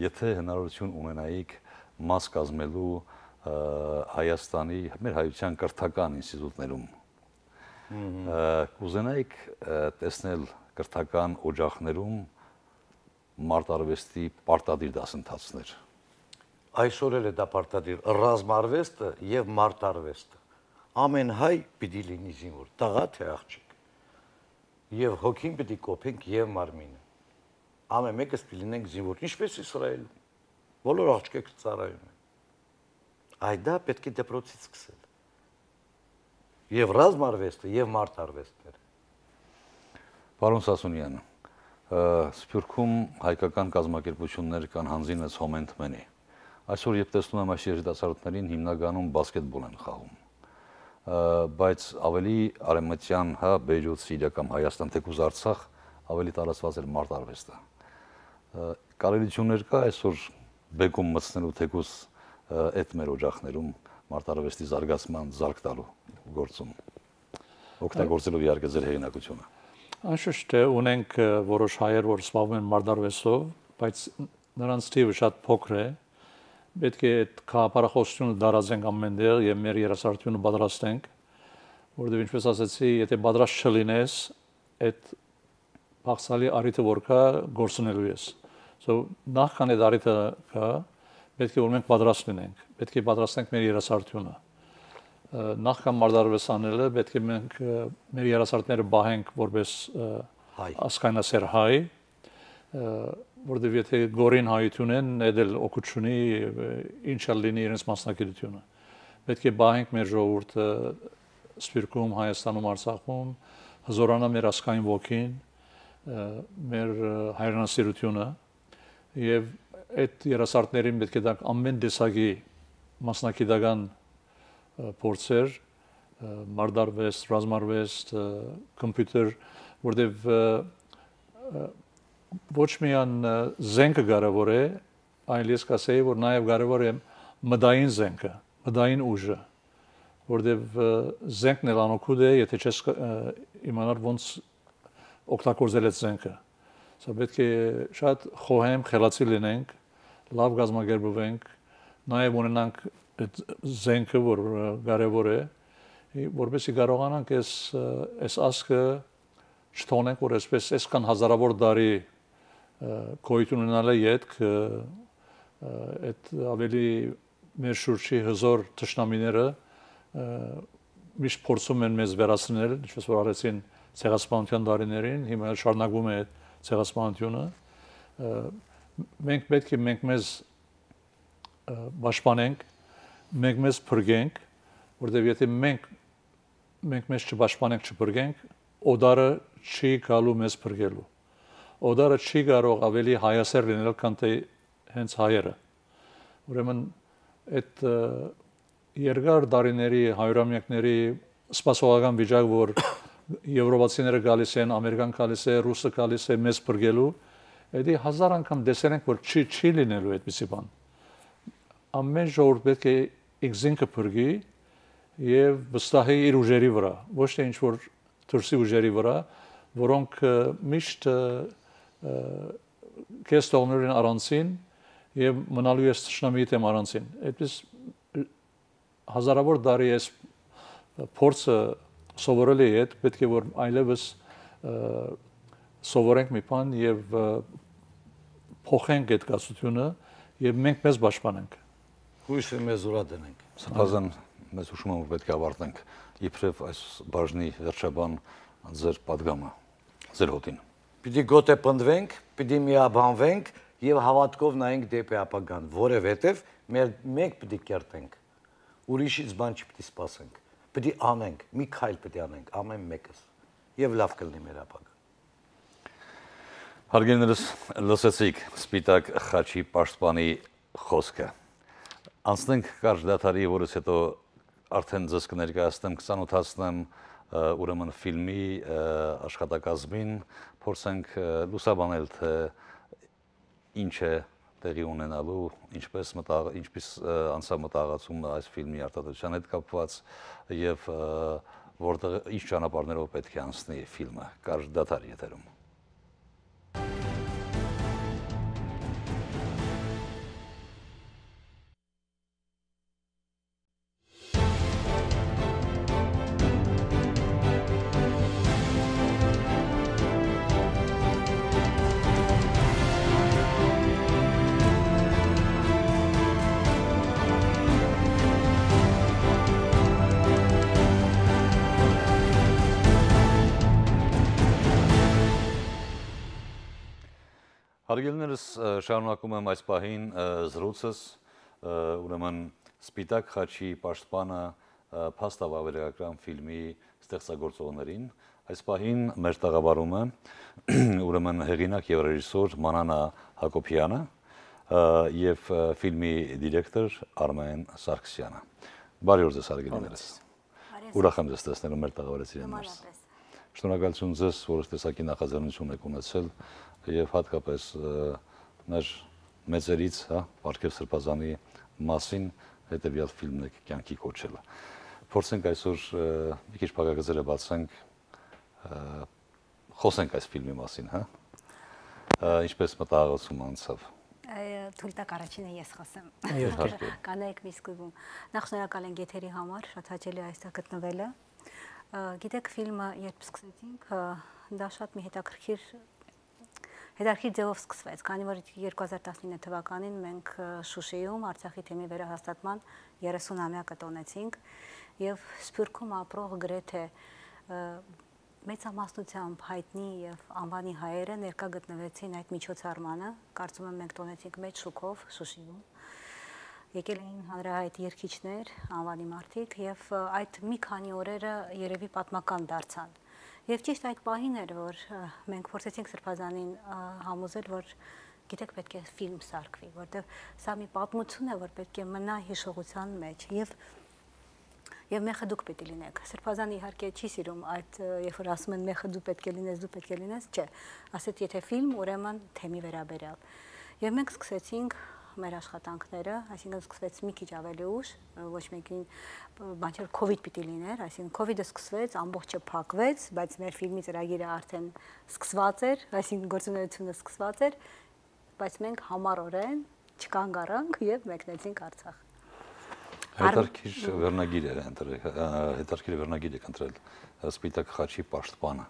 Եթե հնարավորություն ունենայիք մաս կազմելու Հայաստանի մեր հայության կրթական ինստիտուտներում, կուզենայիք տեսնել կրթական օջախներում մարտարվեստի պարտադիր դասընթացներ։ Այսօր էլ է դա պարտադիր ռազմարվեստը եւ մարտարվեստը։ Ամեն հայ պիտի լինի զինվոր, տղա թե աղջիկ։ Եվ հոգին պիտի կոփենք եւ մարմինը։ Ամեն մեկս պիտի լինենք զինվոր, ինչպես Իսրայելում։ Բոլոր աղջիկները ծառայում են։ Այդ դա պետք է դպրոցից սկսել։ Եվ ռազմարվեստը եւ մարտարվեստները։ Պարոն Սասունյան, Սփյուռքում հայկական կազմակերպություններ կան հանձինս հոմենթմենի։ Այսօր երբ տեսնում եմ այս երիտասարդներին հիմնականում բասկետբոլ են խաղում։ Բայց ավելի արևմտյան, Բեյրութ, Սիրիա կամ Հայաստան, թեկուզ Արցախ ավելի տարածված էր մարտարվեստը։ Կարելիություններ կա այսօր բեկում մտցնելու թեկուզ այդ մեր օջախներում մարտարվեստի զարգացման զարգ տալու գործում։ Օգտագործելով իհարկե ձեր հեղինակությունը։ Անշուշտ է ունենք որոշ հայեր, որ զբաղվում են մարտարվեստով, բայց նրանց թիվը շատ փոքր է։ Պետք է այդ քաղաքապարախոսությունը դարածենք ամենտեղ եւ մեր երասարտությունը պատրաստենք, որովհետեւ ինչպես ասացի, եթե պատրաստ չլինես, այդ փախսալի արիթը որ կա, գործունելու ես։ Նախքան այդ արիթը կա, պետք է որ մենք պատրաստ լինենք, պետք է պատրաստենք մեր երասարտությունը։ Նախքան մարտարվեստ անելը պետք է մենք մեր երասարտները բահենք որպես ասկայնասեր հայ, որովհետև եթե գորին հայություն են, այդ էլ օգուտ չունի, ինչ էլ լինի իրենց մասնագիտությունը։ Պետք է բահենք մեր ժողովուրդը Սփյուռքում, Հայաստանում, Արցախում, հզորանա մեր ասկային ոգին, մեր հայրենասիրությունը եւ այդ երասարտներին պետք է տանք ամեն տեսակի մասնագիտական փորձեր, մարտարվեստ, ռազմարվեստ, կոմպյուտեր, որտեղ ոչ միայն զենքը կարևոր է, այլ ես կասեի, որ նաև կարևոր է մտային զենքը, մտային ուժը, որտեղ զենքն էլ անօգուտ է, եթե չես իմանալ ոնց օգտագործել այդ զենքը։ Սա պետք է շատ խոհեմ, խելացի լինենք, լավ կազմակերպվենք, նաև ունենանք այդ զենքը, որ կարևոր է, որովհետեւ կարողանանք այս ասկը չթողնենք, որ այսպես այսքան հազարավոր տարի գոյություն ունենալը յետք այդ ավելի մեր շուրջի հզոր թշնամիները միշտ փորձում են մեզ վերացնել, ինչպես որ արեցին ցեղասպանության տարիներին, հիմա շարունակվում է ցեղասպանությունը։ Մենք պետք է մենք մեզ պաշտպանենք, մենք մեզ փրկենք, որտեղ եթե մենք մեզ չպաշտպանենք, չփրկենք, օդարը չի գալու մեզ փրկելու։ Օդարը չի կարող ավելի հայասեր լինել, քան թե հենց հայերը։ Ուրեմն այդ երկար տարիների, հարյուրամյակների սպասողական վիճակ, որ եվրոպացիները գալիս են, ամերիկան գալիս է, ռուսը գալիս է մեզ փրկելու, դա հազար անգամ տեսնենք, որ չի լինելու այդպիսի բան։ Ամեն ժողովուրդ պետք է ինքը փրկի եւ վստահի իր ուժերի վրա, ոչ թե ինչ որ դրսի ուժերի վրա, որոնք միշտ քեզ թողնելու են առանցին եւ մնալու ես ճշնամիի դեմ առանցին։ Այդպես հազարավոր տարի այս փորձը սովորել է այդ, պետք է որ այլևս սովորենք մի բան եւ փոխենք այդ գացությունը եւ մենք մեզ պաշտպանենք։ Հույսը մեզ ուրա դնենք։ Սրբազան մեզ հուշում եմ, որ պետք է ավարտենք իբրև այս բաժնի վերջաբան ձեր պատգամը, ձեր հոտին։ Պիտի գոտե պնդվենք, պիտի միաբանվենք եւ հավատքով նայենք դեպի ապագան, որովհետեւ մենք պիտի կերտենք։ Ուրիշից բան չպիտի սպասենք։ Պիտի անենք, մի քայլ պիտի անենք, ամեն մեկս։ Եվ լավ կլինի մեր ապագան։ Հարգելիներս, լսեցիք Սպիտակ խաչի պաշտպանի խոսքը։ Անցնենք կարճ դադարի, որից հետո արդեն ձեզ կներկայացնեմ, կծանոթացնեմ ուրեմն ֆիլմի աշխատակազմին, փորձենք լուսաբանել, թե ինչ է տեղի ունենալու, ինչպես անցավ մտահղացումը այս ֆիլմի արտադրության հետ կապված եւ որտեղ ինչ ճանապարհներով պետք է անցնի ֆիլմը։ Կարճ դադար եթերում։ Հարգելիներս, շարունակում եմ այս պահին զրույցս, ուրեմն Սպիտակ խաչի պաշտպանը փաստավավերագրական ֆիլմի ստեղծագործողներին։ Այս պահին մեր տաղավարում է ուրեմն հեղինակ եւ ռեժիսոր Մանանա Հակոբյանը եւ ֆիլմի դիրեկտոր Արմեն Սարգսյանը։ Բարի օր ձեզ, հարգելիներս։ Ուրախ եմ ձեզ տեսնելու մեր տաղավարեցիներս։ Շնորհակալություն ձեզ, որ տեսակի նախաձեռնություն եք ունեցել եւ հատկապես մեր մեծերից, հա, Պարքև Սրբազանի մասին հետեւյալ ֆիլմն եք կյանքի կոչելը։ Փորձենք այսօր մի քիչ փակագծերը բացենք, խոսենք այս ֆիլմի մասին, հա։ Ինչպես մտահղացում անցավ։ Թույլ տակ առաջինը ես խոսեմ։ Կանայք մի սկզբում։ Նախ շնորհակալ ենք եթերի համար, շատ հաճելի է այստեղ գտնվելը։ Գիտեք, ֆիլմը երբ սկսեցինք, դա շատ մի հետաքրքիր ձևով սկսվեց, քանի որ 2019 թվականին մենք Շուշիում Արցախի թեմի վերահաստատման 30-ամյակը տոնեցինք եւ Սփյուռքում ապրող գրեթե մեծամասնությամբ հայտնի եւ անվանի հայերը ներկա գտնվեցին այդ միջոցառմանը, կարծում եմ մենք տոնեցինք մեծ շուկով Շուշիում։ Եկել էին հանրահայտ երգիչներ, անվանի մարդիկ եւ այդ մի քանի օրերը երևի պատմական դարձան։ Եվ ճիշտ այդ պահին էր, որ մենք փորձեցինք Սրբազանին համոզել, որ գիտեք պետք է ֆիլմ սարքվի, որտեղ սա մի պատմություն է, որ պետք է մնա հիշողության մեջ եւ մեղը դուք պետք է լինեք։ Սրբազանը իհարկե չի սիրում այդ, երբ որ ասում են մեղը դու պետք է լինես, դու պետք է լինես, չէ, ասեց եթե ֆիլմ, ուրեմն թեմի վերաբերյալ։ Եվ մենք սկսեցինք մեր աշխատանքները, այսինքն սկսվեց մի քիչ ավելի ուշ, ոչ մեկին բան չէր COVID պիտի լիներ, այսինքն COVID-ը սկսվեց, ամբողջը փակվեց, բայց մեր ֆիլմի ծրագիրը արդեն սկսված էր, այսինքն գործունեությունը սկսված էր, բայց մենք համառորեն չկանգ առանք եւ մեկնեցինք Արցախ։ Հետարքիր վերնագիր եք ընտրել Սպիտակ խաչի պաշտպանը։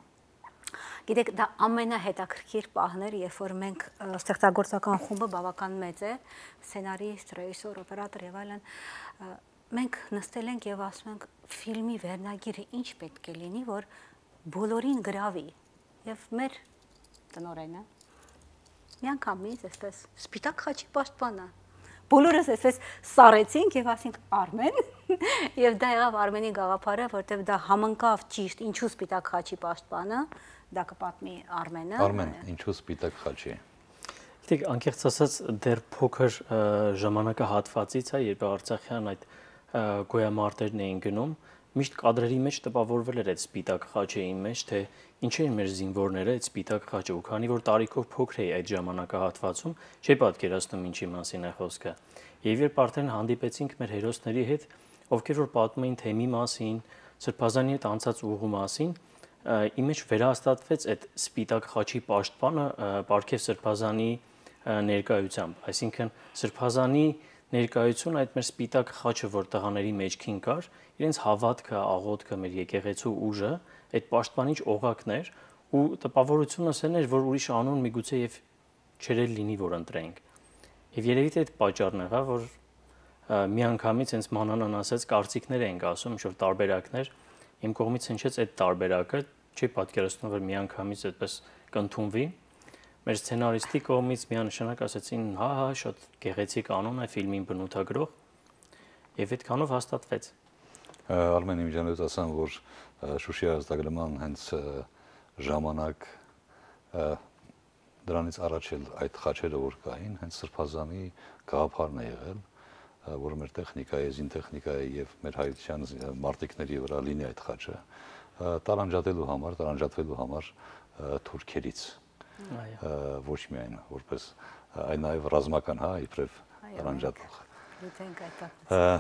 Գիտեք, դա ամենահետաքրքիր պահն էր, երբ որ մենք ստեղծագործական խումբը բավական մեծ է, սցենարիստ, ռեժիսոր, օպերատոր եւ այլն, մենք նստել ենք եւ ասում ենք ֆիլմի վերնագիրը ինչ պետք է լինի, որ բոլորին գրավի։ Եվ մեր տնօրենը միանգամից այսպես Սպիտակ խաչի պաշտպանը։ Բոլորս այսպես սառեցինք եւ ասինք Արմեն, եւ դա եղավ Արմենի գաղափարը, որտեւ դա համընկավ ճիշտ ինչու Սպիտակ խաչի պաշտպանը, դա կպատմի Արմենը։ Արմեն, ինչու Սպիտակ խաչի։ Գիտեք, անկեղծ ասած, դեռ փոքր ժամանակահատվածից է, երբ Արցախյան այդ գոյամարտերն էին գնում, միշտ կադրերի մեջ տպավորվել էր այդ Սպիտակ խաչի մեջ, թե ինչ էին մեր զինվորները այդ Սպիտակ խաչը, ու քանի որ տարիքով փոքր էի այդ ժամանակահատվածում, չէի պատկերացնում ինչի մասին է խոսքը։ Եվ երբ արդեն հանդիպեցինք մեր հերոսների հետ, ովքեր որ պատմում էին թեմի մասին, Սրբազանի հետ անցած ուղու մասին, իմ մեջ վերահաստատվեց այդ Սպիտակ խաչի պաշտպանը Պարքև Սրբազանի ներկայությամբ, այսինքն Սրբազանի ներկայություն այդ մեր Սպիտակ խաչը, որ տղաների մեջքին կար, իրենց հավատքը, աղոթքը, մեր եկեղեցու ուժը, այդ պաշտպանիչ օղակներ ու տպավորությունս էր, որ ուրիշ անուն միգուցե եւ չերել լինի, որ ընտրենք։ Եվ երևի թե այդ պատճառն եղավ, որ միանգամից հենց մանանան ասած կարծիքներ ենք ասում, ինչ որ տարբերակներ, իմ կողմից հնչեց այդ տարբերակը, չի պատկերացնում, որ միանգամից այդպես կընդունվի։ Մեր սցենարիստի կողմից միանշանակ ասացին, հա, շատ գեղեցիկ անուն է ֆիլմին բնութագրող, եւ այդքանով հաստատվեց։ Արմեն իմջանոց ասան, որ Շուշի ազատագրման հենց ժամանակ դրանից առաջ էլ այդ խաչերը որ կային, հենց Սրբազանի գաղափարն է եղել, որ մեր տեխնիկայի, զինտեխնիկայի եւ մեր հայության մարտիկների վրա լինի այդ խաչը, տարանջատվելու համար թուրքերից, ոչ միայն որպես այն նաեւ ռազմական, հա, իբրև տարանջատող։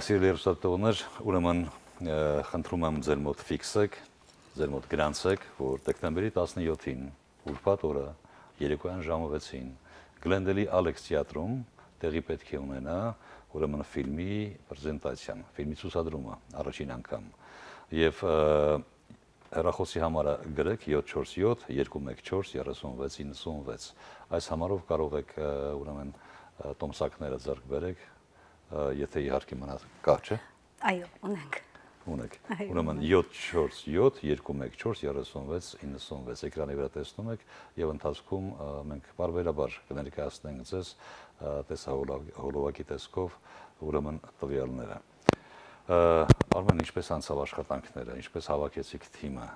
Սիրելի հեռուստատողներ, ուրեմն խնդրում եմ ձեր մոտ ֆիքսեք, ձեր մոտ գրանցեք, որ դեկտեմբերի 17-ին ուրբաթ օրը երեկոյան ժամը 6-ին Գլենդելի Ալեքս թատրոնում տեղի պետք է ունենա ուրեմն ֆիլմի պրեզենտացիան, ֆիլմի ցուցադրումը առաջին անգամ։ Եվ հեռախոսի համարը գրեք 747 214 36 96։ Այս համարով կարող եք ուրեմն տոմսակները ձեռք բերեք, եթե իհարկե մնա կա, չէ։ Այո, ունենք։ Ուրեմն 747 214 36 96 էկրանի վրա տեսնում եք եւ ընթացքում մենք բարբերաբար կներկայացնենք ձեզ տեսահոլովակի տեսքով ուրեմն տվյալները։ Արմեն, ինչպես անցավ աշխատանքները, ինչպես հավաքեցիք թիմը։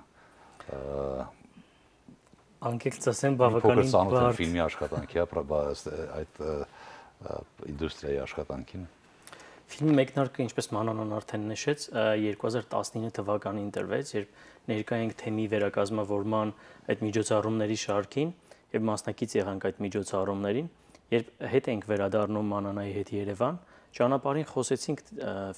Անկեղծ ասեմ, բավականին բարդ ֆիլմի աշխատանքի, այդ ինդուստրիայի աշխատանքին։ Ֆիլմի մեկնարկը, ինչպես Մանանան արդեն նշեց, 2019 թվականին տրվեց, երբ ներկա ենք թեմի վերակազմավորման այդ միջոցառումների շարքին եւ մասնակից եղանք այդ միջոցառումներին, երբ հետ ենք վերադառնում Մանանայի հետ Երևան, ճանապարհին խոսեցինք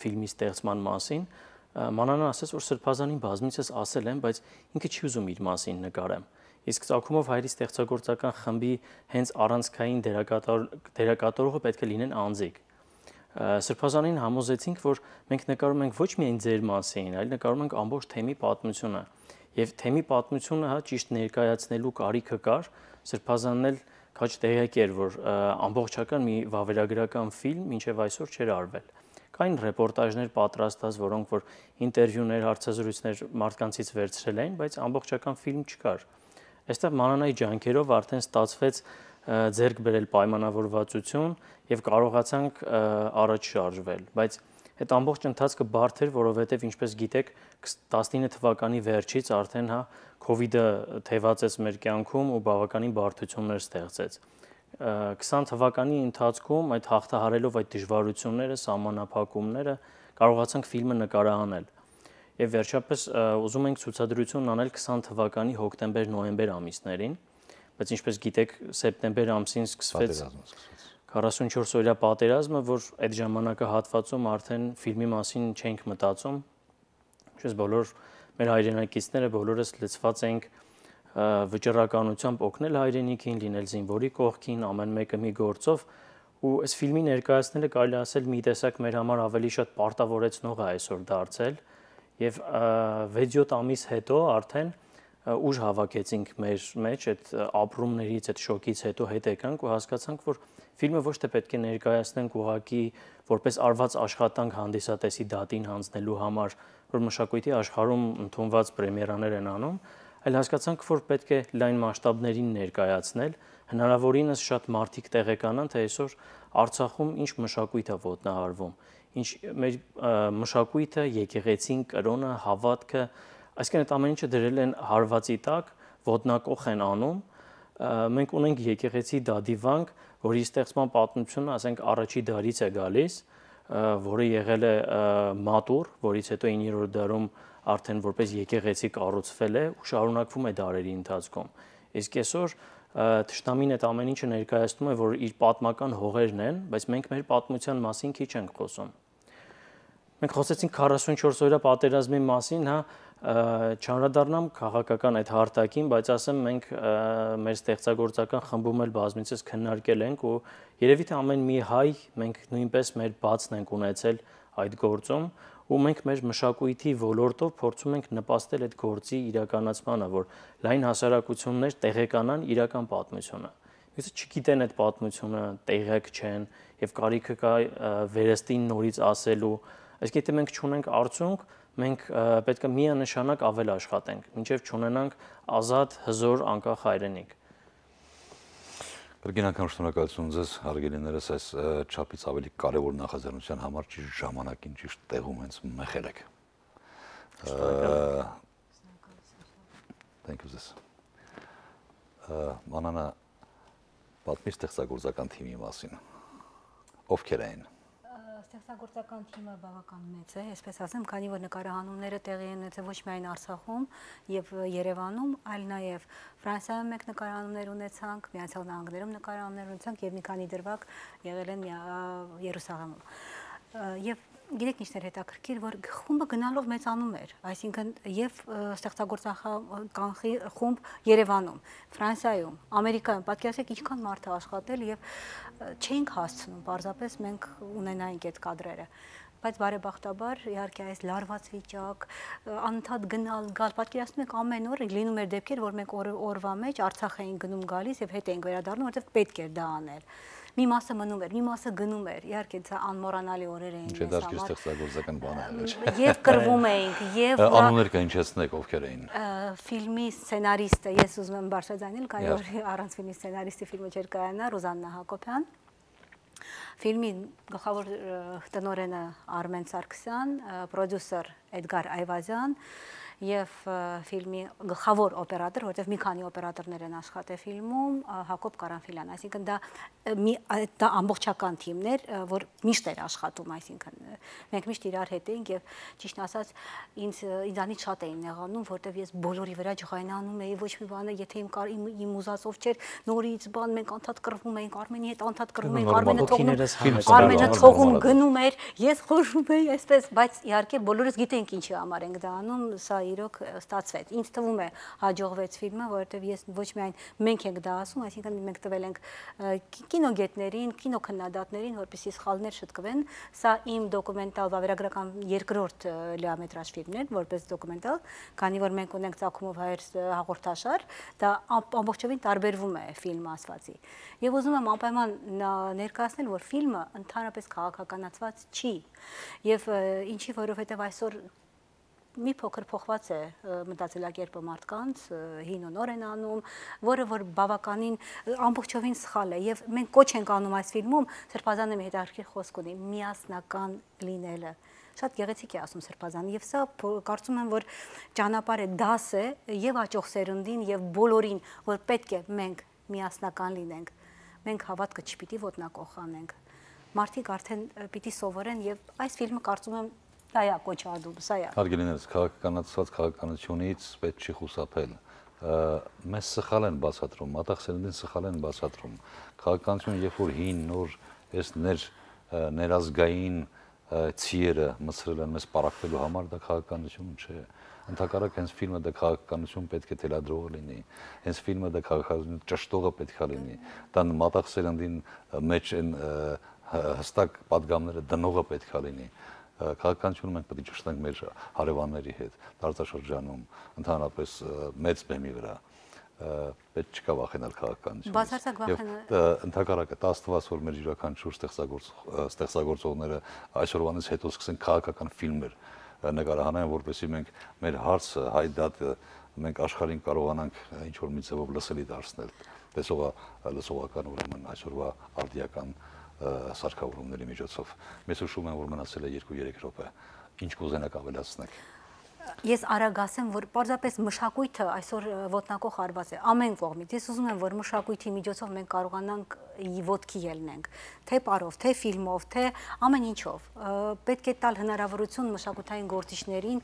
ֆիլմի ստեղծման մասին, Մանանան ասաց, որ Սրբազանին բազմիցս ասել եմ, բայց ինքը չի ուզում իր մասին նկարեմ։ Իսկ Ծագումով հայրի ստեղծագործական խմբի հենց առանցքային դերակատարողը պետք է լինեն անձիկ։ Սրբազանին համոզեցինք, որ մենք նկարում ենք ոչ միայն ձեր մասին, այլ նկարում ենք ամբողջ թեմի պատմությունը։ Եվ թեմի պատմությունը հա ճիշտ ներկայացնելու կարիքը կար, Սրբազանն էլ քաջ տեղյակ էր, որ ամբողջական մի վավերագրական ֆիլմ մինչև այսօր չէր արվել։ Կային ռեպորտաժներ պատրաստած, որոնք որ ինտերվյուներ, հարցազրույցներ մարդկանցից վերցրել էին, բայց ամբողջական ֆիլմ չկար։ Այստեղ Մանանայի ջանքերով արդեն ստացվեց ձեռք բերել պայմանավորվածություն եւ կարողացանք առաջ շարժվել, բայց այդ ամբողջ ընթացքը բարդ էր, որովհետեւ ինչպես գիտեք 19 թվականի վերջից արդեն հա COVID-ը թևածեց մեր կյանքում ու բավականին բարդություններ ստեղծեց։ 20 թվականի ընթացքում այդ հաղթահարելով այդ դժվարությունները, սահմանափակումները կարողացանք ֆիլմը նկարահանել։ Եվ վերջապես ուզում ենք ցուցադրություն անել 20 թվականի հոկտեմբեր-նոյեմբեր ամիսներին, բայց ինչպես գիտեք, սեպտեմբեր ամսին սկսվեց 44 օրյա պատերազմը, որ այդ ժամանակահատվածում արդեն ֆիլմի մասին չենք մտածում։ Ինչպես բոլոր մեր հայրենակիցները բոլորս լցված ենք վճռականությամբ օգնել հայրենիքին, լինել զինվորի կողքին, ամեն մեկը մի գործով ու այս ֆիլմի ներկայացնելը կարելի ասել մի տեսակ մեր համար ավելի շատ պարտավորեցնող է այսօր դարձել եւ 6-7 ամիս հետո արդեն ուժ հավաքեցինք մեր մեջ այդ ապրումներից, այդ շոկից հետո հետ եկանք ու հասկացանք, որ ֆիլմը ոչ թե պետք է ներկայացնենք ուղղակի որպես արված աշխատանք հանդիսատեսի դատին հանձնելու համար, որ մշակույթի աշխարհում ընդունված պրեմիերաներ են անում, այլ հասկացանք, որ պետք է լայն մասշտաբներին ներկայացնել, հնարավորինս շատ մարդիկ տեղեկանան, թե այսօր Արցախում ինչ մշակույթ է ոտնահարվում, ինչ մեր մշակույթը, եկեղեցին, կրոնը, հավատքը, այսինքն այդ ամեն ինչը դրել են հարվածի տակ, ոտնակոխ են անում։ Մենք ունենք եկեղեցի դադիվանք, որի ստեղծման պատմությունը, ասենք, առաջի դարից է գալիս, որը եղել է մատուր, որից հետո 9-րդ դարում արդեն որպես եկեղեցի կառուցվել է ու շարունակվում է դարերի ընթացքում։ Իսկ այսօր թշնամին այդ ամեն ինչը ներկայացնում է, որ իր պատմական հողերն են, բայց մենք մեր պատմության մասին քիչ ենք խոսում։ Մենք խոսեցինք 44 օրյա պատերազմի մասին, հա, չանդրադառնամ քաղաքական այդ հարթակին, բայց ասեմ մենք մեր ստեղծագործական խմբում էլ բազմիցս քննարկել ենք ու երևի թե ամեն մի հայ մենք նույնպես մեր բացն ենք ունեցել այդ գործում ու մենք մեր մշակույթի ոլորտով փորձում ենք նպաստել այդ գործի իրականացմանը, որ լայն հասարակություններ տեղեկանան իրական պատմությունը։ Իսկ չգիտեն այդ պատմությունը, տեղյակ չեն եւ կարիքը կա վերստին նորից ասելու, այսինքն եթե մենք չունենք արդյունք, մենք պետք է միանշանակ ավել աշխատենք, մինչև չունենանք ազատ, հզոր, անկախ հայրենիք։ Կրկին անգամ շնորհակալություն ձեզ, հարգելիներս, այս չափից ավելի կարևոր նախաձեռնության համար ճիշտ ժամանակին, ճիշտ տեղում հենց մեղել եք։ Thank you ձեզ։ Մանանա, պատմի ստեղծագործական թիմի մասին։ Ովքեր էին։ Ստեղծագործական թիմը բավական մեծ է, այսպես ասեմ, քանի որ նկարահանումները տեղի են ունեցել ոչ միայն Արցախում եւ Երևանում, այլ նաեւ Ֆրանսիայում մեկ նկարահանումներ ունեցանք, Միացյալ Նահանգներում նկարահանումներ ունեցանք եւ մի քանի դրվագ եղել են Երուսաղեմում։ Եվ գիտեք ինչն էր հետաքրքիր, որ խումբը գնալով մեծանում էր, այսինքն եւ ստեղծագործական խումբ Երևանում, Ֆրանսիայում, Ամերիկայում, պատկերացրեք ինչքան մարդ է աշխատել եւ չէինք հասցնում, պարզապես մենք ունենայինք այդ կադրերը, բայց բարեբախտաբար իհարկե այս լարված վիճակ, անընդհատ գնալ, գալ, պատկերացնում եք ամեն օր լինում էր դեպքեր, որ մենք օրվա մեջ Արցախ էինք գնում գալիս եւ հետ էինք վերադառնում, որովհետեւ պետք էր դա անել։ Մի մասը մնում էր, մի մասը գնում էր, իհարկե դա անմոռանալի օրեր էին մեզ համար։ Չէ, դա ստեղծագործական բան է։ Եվ կռվում էինք, եւ անուններ կհնչեցնեք, ովքեր էին։ Ֆիլմի սցենարիստը, ես ուզում եմ բարձրաձայնել, քանի որ առանց ֆիլմի սցենարիստի ֆիլմը չէր կայանա, Ռուզաննա Հակոբյան։ Ֆիլմի գլխավոր տնօրենը Արմեն Սարգսյան, պրոդյուսեր Էդգար Այվազյան եւ ֆիլմի գլխավոր օպերատոր, որտեղ մի քանի օպերատորներ են աշխատել ֆիլմում, Հակոբ Կարանֆիլյան, այսինքն դա ամբողջական թիմներ, որ միշտ էր աշխատում, այսինքն մենք միշտ իրար հետ էինք եւ ճիշտ ասած ինձանից շատ էին նեղանում, որտեղ ես բոլորի վրա ջղայնանում էի, ոչ մի բանը, եթե իմ ուզածով չէր, նորից բան մենք անդադ կռվում էինք, Արմենի հետ անդադ կռվում էինք, Արմենը թողում գնում էր, ես խորհում էի այսպես, բայց իհարկե բոլորս գիտենք ինչի համար ենք դա անում, սա իրոք ստացվեց։ Ինձ թվում է հաջողվեց ֆիլմը, որովհետև ես ոչ միայն մենք ենք դա ասում, այսինքն մենք տվել ենք կինոգետներին, կինոքննադատներին, որպեսզի սխալներ շտկվեն։ Սա իմ դոկումենտալ վավերագրական երկրորդ լիամետրաժ ֆիլմն է, որպես դոկումենտալ, քանի որ մենք ունենք Ծագումով հայեր հաղորդաշար, դա ամբողջովին տարբերվում է ֆիլմ ասվածի։ Եվ ուզում եմ անպայման ներկայացնել, որ ֆիլմը ընդհանրապես քաղաքականացված չի։ Եվ ինչի, որովհետև այսօր մի փոքր փոխված է մտածելակերպը մարդկանց, հին ու նոր են անում, որը որ բավականին ամբողջովին սխալ է եւ մենք կոչ ենք անում այս ֆիլմում Սրբազանը մի հետաքրքիր խոսք ունի՝ միասնական լինելը։ Շատ գեղեցիկ է ասում Սրբազանը եւ սա կարծում եմ որ ճանապարհ է, դաս է եւ աճող սերունդին եւ բոլորին, որ պետք է մենք միասնական լինենք։ Մենք հավատքը չպիտի ոտնակոխ անենք։ Մարդիկ արդեն պիտի սովորեն եւ այս ֆիլմը կարծում եմ դա է կոչադում, սա է։ Հարգելիներս, քաղաքականացված քաղաքականությունից պետք չի խուսափել։ Մեզ սխալ են բացատրում, մատաղ սերնդին սխալ են բացատրում։ Քաղաքականությունը երբ որ հին, նոր, այս ներազգային ցիերը մցրել են մեզ պարակվելու համար, դա քաղաքականություն չէ։ Ընդհակառակ հենց ֆիլմը դա քաղաքականություն պետք է թելադրողը լինի, հենց ֆիլմը դա քաղաքականություն ճշտողը պետք է լինի, դա մատաղ սերնդին մեջ են հստակ պատգամները դնողը պետք է լինի։ Քաղաքականությունը մենք պետք է ճշտենք մեր հարևանների հետ, տարածաշրջանում, ընդհանրապես մեծ բեմի վրա։ Պետք չկա վախենալ քաղաքականությունից։ Բացարձակ վախենալ։ Ընդհակառակը դա աստված որ մեր յուրաքանչյուր ստեղծագործողները այսօրվանից հետո սկսեն քաղաքական ֆիլմեր նկարահանեն, որպեսզի մենք մեր հարցը, հայ դատը մենք աշխարհին կարողանանք ինչ որ մի ձևով լսելի դարձնել։ Լսողական ուրեմն այսօրվա արդիական սարքավորումների միջոցով։ Մեզ հուշում են, որ մնացել է 2-3 րոպե։ Ինչ կուզենաք ավելացնեք։ Ես արագ ասեմ, որ պարզապես մշակույթը այսօր ոտնակոխ արված է ամեն կողմից։ Ես ուզում եմ, որ մշակույթի միջոցով մենք կարողանանք ոտքի ելնենք, թե պարով, թե ֆիլմով, թե ամեն ինչով։ Պետք է տալ հնարավորություն մշակութային գործիչներին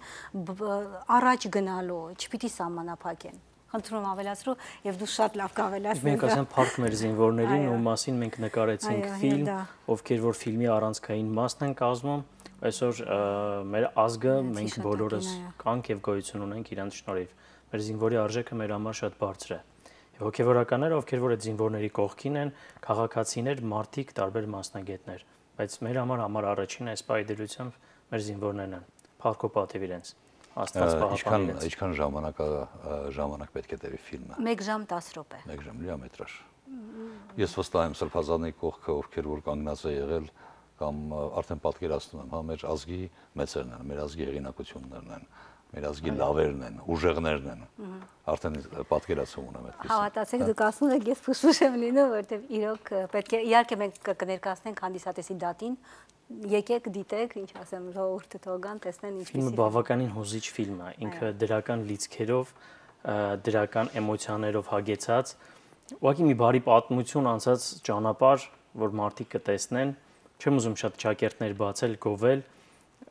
առաջ գնալու, չպիտի սահմանափակեն։ Խնդրում ավելացրու եւ դու շատ լավ կավելացնես։ Մենք ասեմ փառք մեր զինվորներին, ում մասին մենք նկարեցինք ֆիլմ, ովքեր որ ֆիլմի առանցքային մասն են կազմում, այսօր մեր ազգը մենք բոլորս կանք եւ գոյություն ունենք իրանց շնորհիվ։ Մեր զինվորի արժեքը մեր համար շատ բարձր է։ Եվ հոգեվորականները, ովքեր որ այդ զինվորների կողքին են, քաղաքացիներ, մարդիկ, տարբեր մասնագետներ, բայց մեր համար առաջին այս պայդելությամբ մեր զինվորներն են։ Փառք ու պատիվ իրենց։ Աստված պահապանի իրենց։ Ինչքան ժամանակ պետք է տևի ֆիլմը։ 1 ժամ 10 րոպե։ 1 ժամ լիամետրաժ։ Ես վստահ եմ Սրբազանի կողքը, ովքեր որ կանգնած է եղել կամ արդեն պատկերացնում եմ, հա մեր ազգի մեծերն են, մեր ազգի հեղինակություններն են, մեր ազգի լավերն են, ուժեղներն են։ Արդեն պատկերացում ունեմ այդպես։ Հավատացեք, դուք ասում եք, ես փոշփուշ եմ լինում, որովհետև իրոք պետք է իհարկե մենք կներկայացնենք հանդիսատեսի դատին, եկեք դիտեք, ինչ ասեմ, ժողովուրդը թողան, տեսնեն ինչպես։ Ֆիլմը բավականին հուզիչ ֆիլմ է, ինքը դրական լիցքերով, դրական էմոցիաներով հագեցած, ուղղակի մի բարի պատմություն անցած ճանապարհ, որ մարդիկ կտեսնեն, չեմ ուզում շատ ճակերտներ բացել, գովել,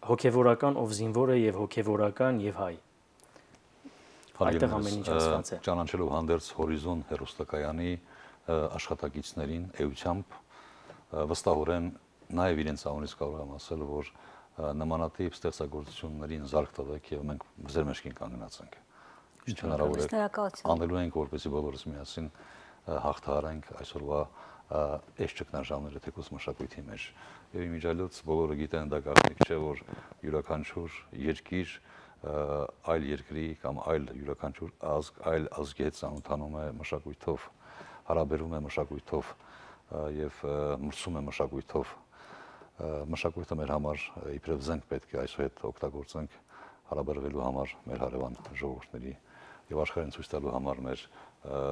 հոգևորական ով զինվոր է եւ հոգևորական եւ հայ։ Այդտեղ ամեն ինչ ասված է։ Ճանաչելով հանդերձ հորիզոն հերոստակայանի աշխատակիցներին էությամբ վստահորեն նաև իրենց անունից կարող եմ ասել, որ նմանատիպ ստեղծագործություններին զարկ տվեք եւ մենք ձեր մեջքին կանգնած ենք։ Ինչ հնարավոր է անելու ենք, որպեսզի բոլորս միասին հաղթահարենք այսօրվա այս ճգնաժամերը թեկուզ մշակույթի մեջ։ Եվ իմիջիայլոց բոլորը գիտեն դա գաղտնիք չէ, որ յուրաքանչյուր երկիր այլ երկրի կամ այլ յուրաքանչյուր ազգ, այլ ազգի հետ ծանոթանում է մշակույթով, հարաբերում է մշակույթով եւ մրցում է մշակույթով։ Մշակույթը մեր համար իբրև զենք պետք է այսուհետ օգտագործենք հարաբերվելու համար մեր հարևան ժողովուրդների եւ աշխարհին ցույց տալու համար մեր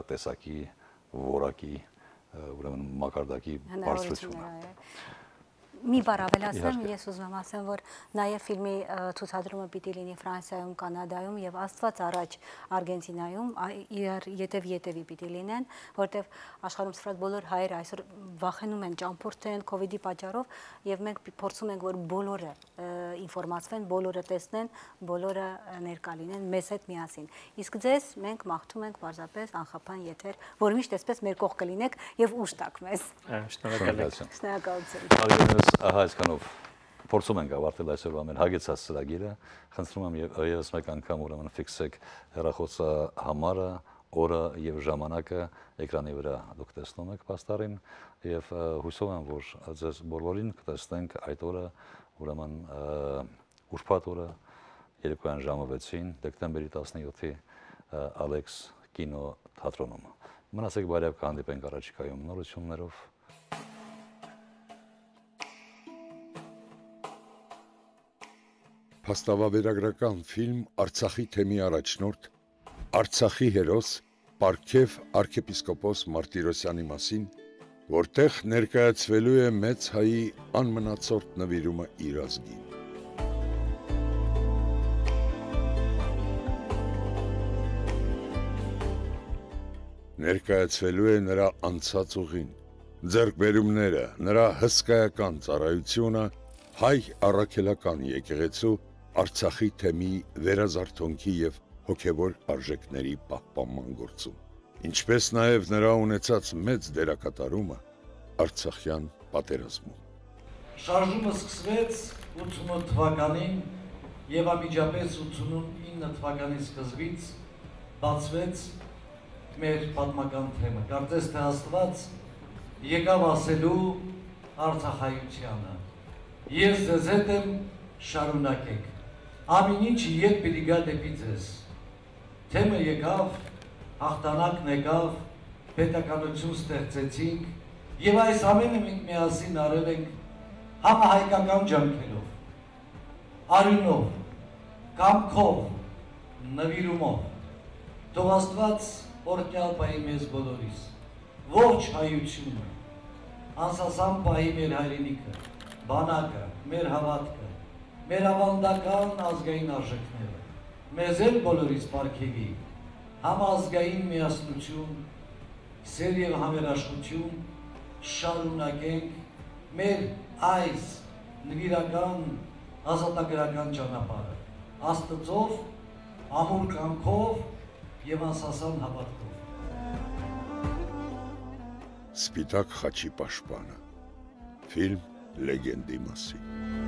տեսակի, որակի, ուրեմն մակարդակի բարձրությունը։ Մի բառ ավելացնեմ, ես ուզում եմ ասեմ, որ նաև ֆիլմի ցուցադրումը պիտի լինի Ֆրանսիայում, Կանադայում եւ Աստված առաջ Արգենտինայում, ետևի պիտի լինեն, որտեվ աշխարհում սրած բոլոր հայերը այսօր վախենում են, ճամփորդեն COVID-ի պատճառով եւ մենք փորձում ենք, որ բոլորը ինֆորմացվեն, բոլորը տեսնեն, բոլորը ներկա լինեն մեզ հետ միասին։ Իսկ ձեզ մենք մաղթում ենք պարզապես անխափան եթեր, որ միշտ այսպես մեր կողքը լինեք եւ ուժ տաք մեզ։ Շնորհակալություն։ Շնորհակալություն։ Ահա այսքանով փորձում ենք ավարտել այսօրվա մեր հագեցած ծրագիրը։ Խնդրում եմ եւս մեկ անգամ ուրեմն ֆիքսեք հեռախոսը համարը, օրը եւ ժամանակը էկրանի վրա դուք տեսնում եք պաստառին եւ հույսով եմ, որ ձեզ բոլորին կտեսնենք այդ օրը, ուրեմն ուրբաթ օրը երեկոյան ժամը 6-ին դեկտեմբերի 17-ի Ալեքս կինո թատրոնում։ Մնացեք բարյավ, կհանդիպենք առաջիկայում նորություններով։ Փաստավավերագրական ֆիլմ Արցախի թեմի առաջնորդ, Արցախի հերոս Պարքև arczepiskopos Մարտիրոսյանի մասին, որտեղ ներկայացվելու է մեծ հայի անմնացորդ նվիրումը իր ազգին։ Ներկայացվելու է նրա անցած ուղին, ձեռքբերումները, նրա հսկայական ծառայությունը հայ առաքելական եկեղեցու Արցախի թեմի վերազարթոնքի եւ հոգեվոր արժեքների պահպանման գործում, ինչպես նաեւ նրա ունեցած մեծ դերակատարումը Արցախյան պատերազմում։ Շարժումը սկսվեց 88 թվականին եւ ամիջապես 89 թվականի սկզբից բացվեց մեր պատմական թեմը։ Կարծես թե Աստված եկավ ասելու Արցախայությանը։ Ես ձեզ հետ եմ, շարունակեք։ Ամեն ինչ ետ պիտի գա դեպի ձեզ։ Թեմը եկավ, հաղթանակն եկավ, պետականություն ստեղծեցինք եւ այս ամենը մենք միասին արել ենք համահայկական ջանքերով, արյունով, կամքով, նվիրումով։ Թող Աստված օրհնյալ պահի մեզ բոլորիս, ողջ հայությունը, անսասան պահի մեր հայրենիքը, բանակը, մեր հավատքը, մեր ավանդական ազգային արժեքները, մեզ էլ բոլորիս պարգևի, համազգային միասնություն, սեր եւ համերաշխություն, շարունակենք մեր այս նվիրական ազատագրական ճանապարհը, Աստծով, ամուր կամքով եւ անսասան հավատքով։ Սպիտակ խաչի պաշտպանը։ Ֆիլմ լեգենդի մասին։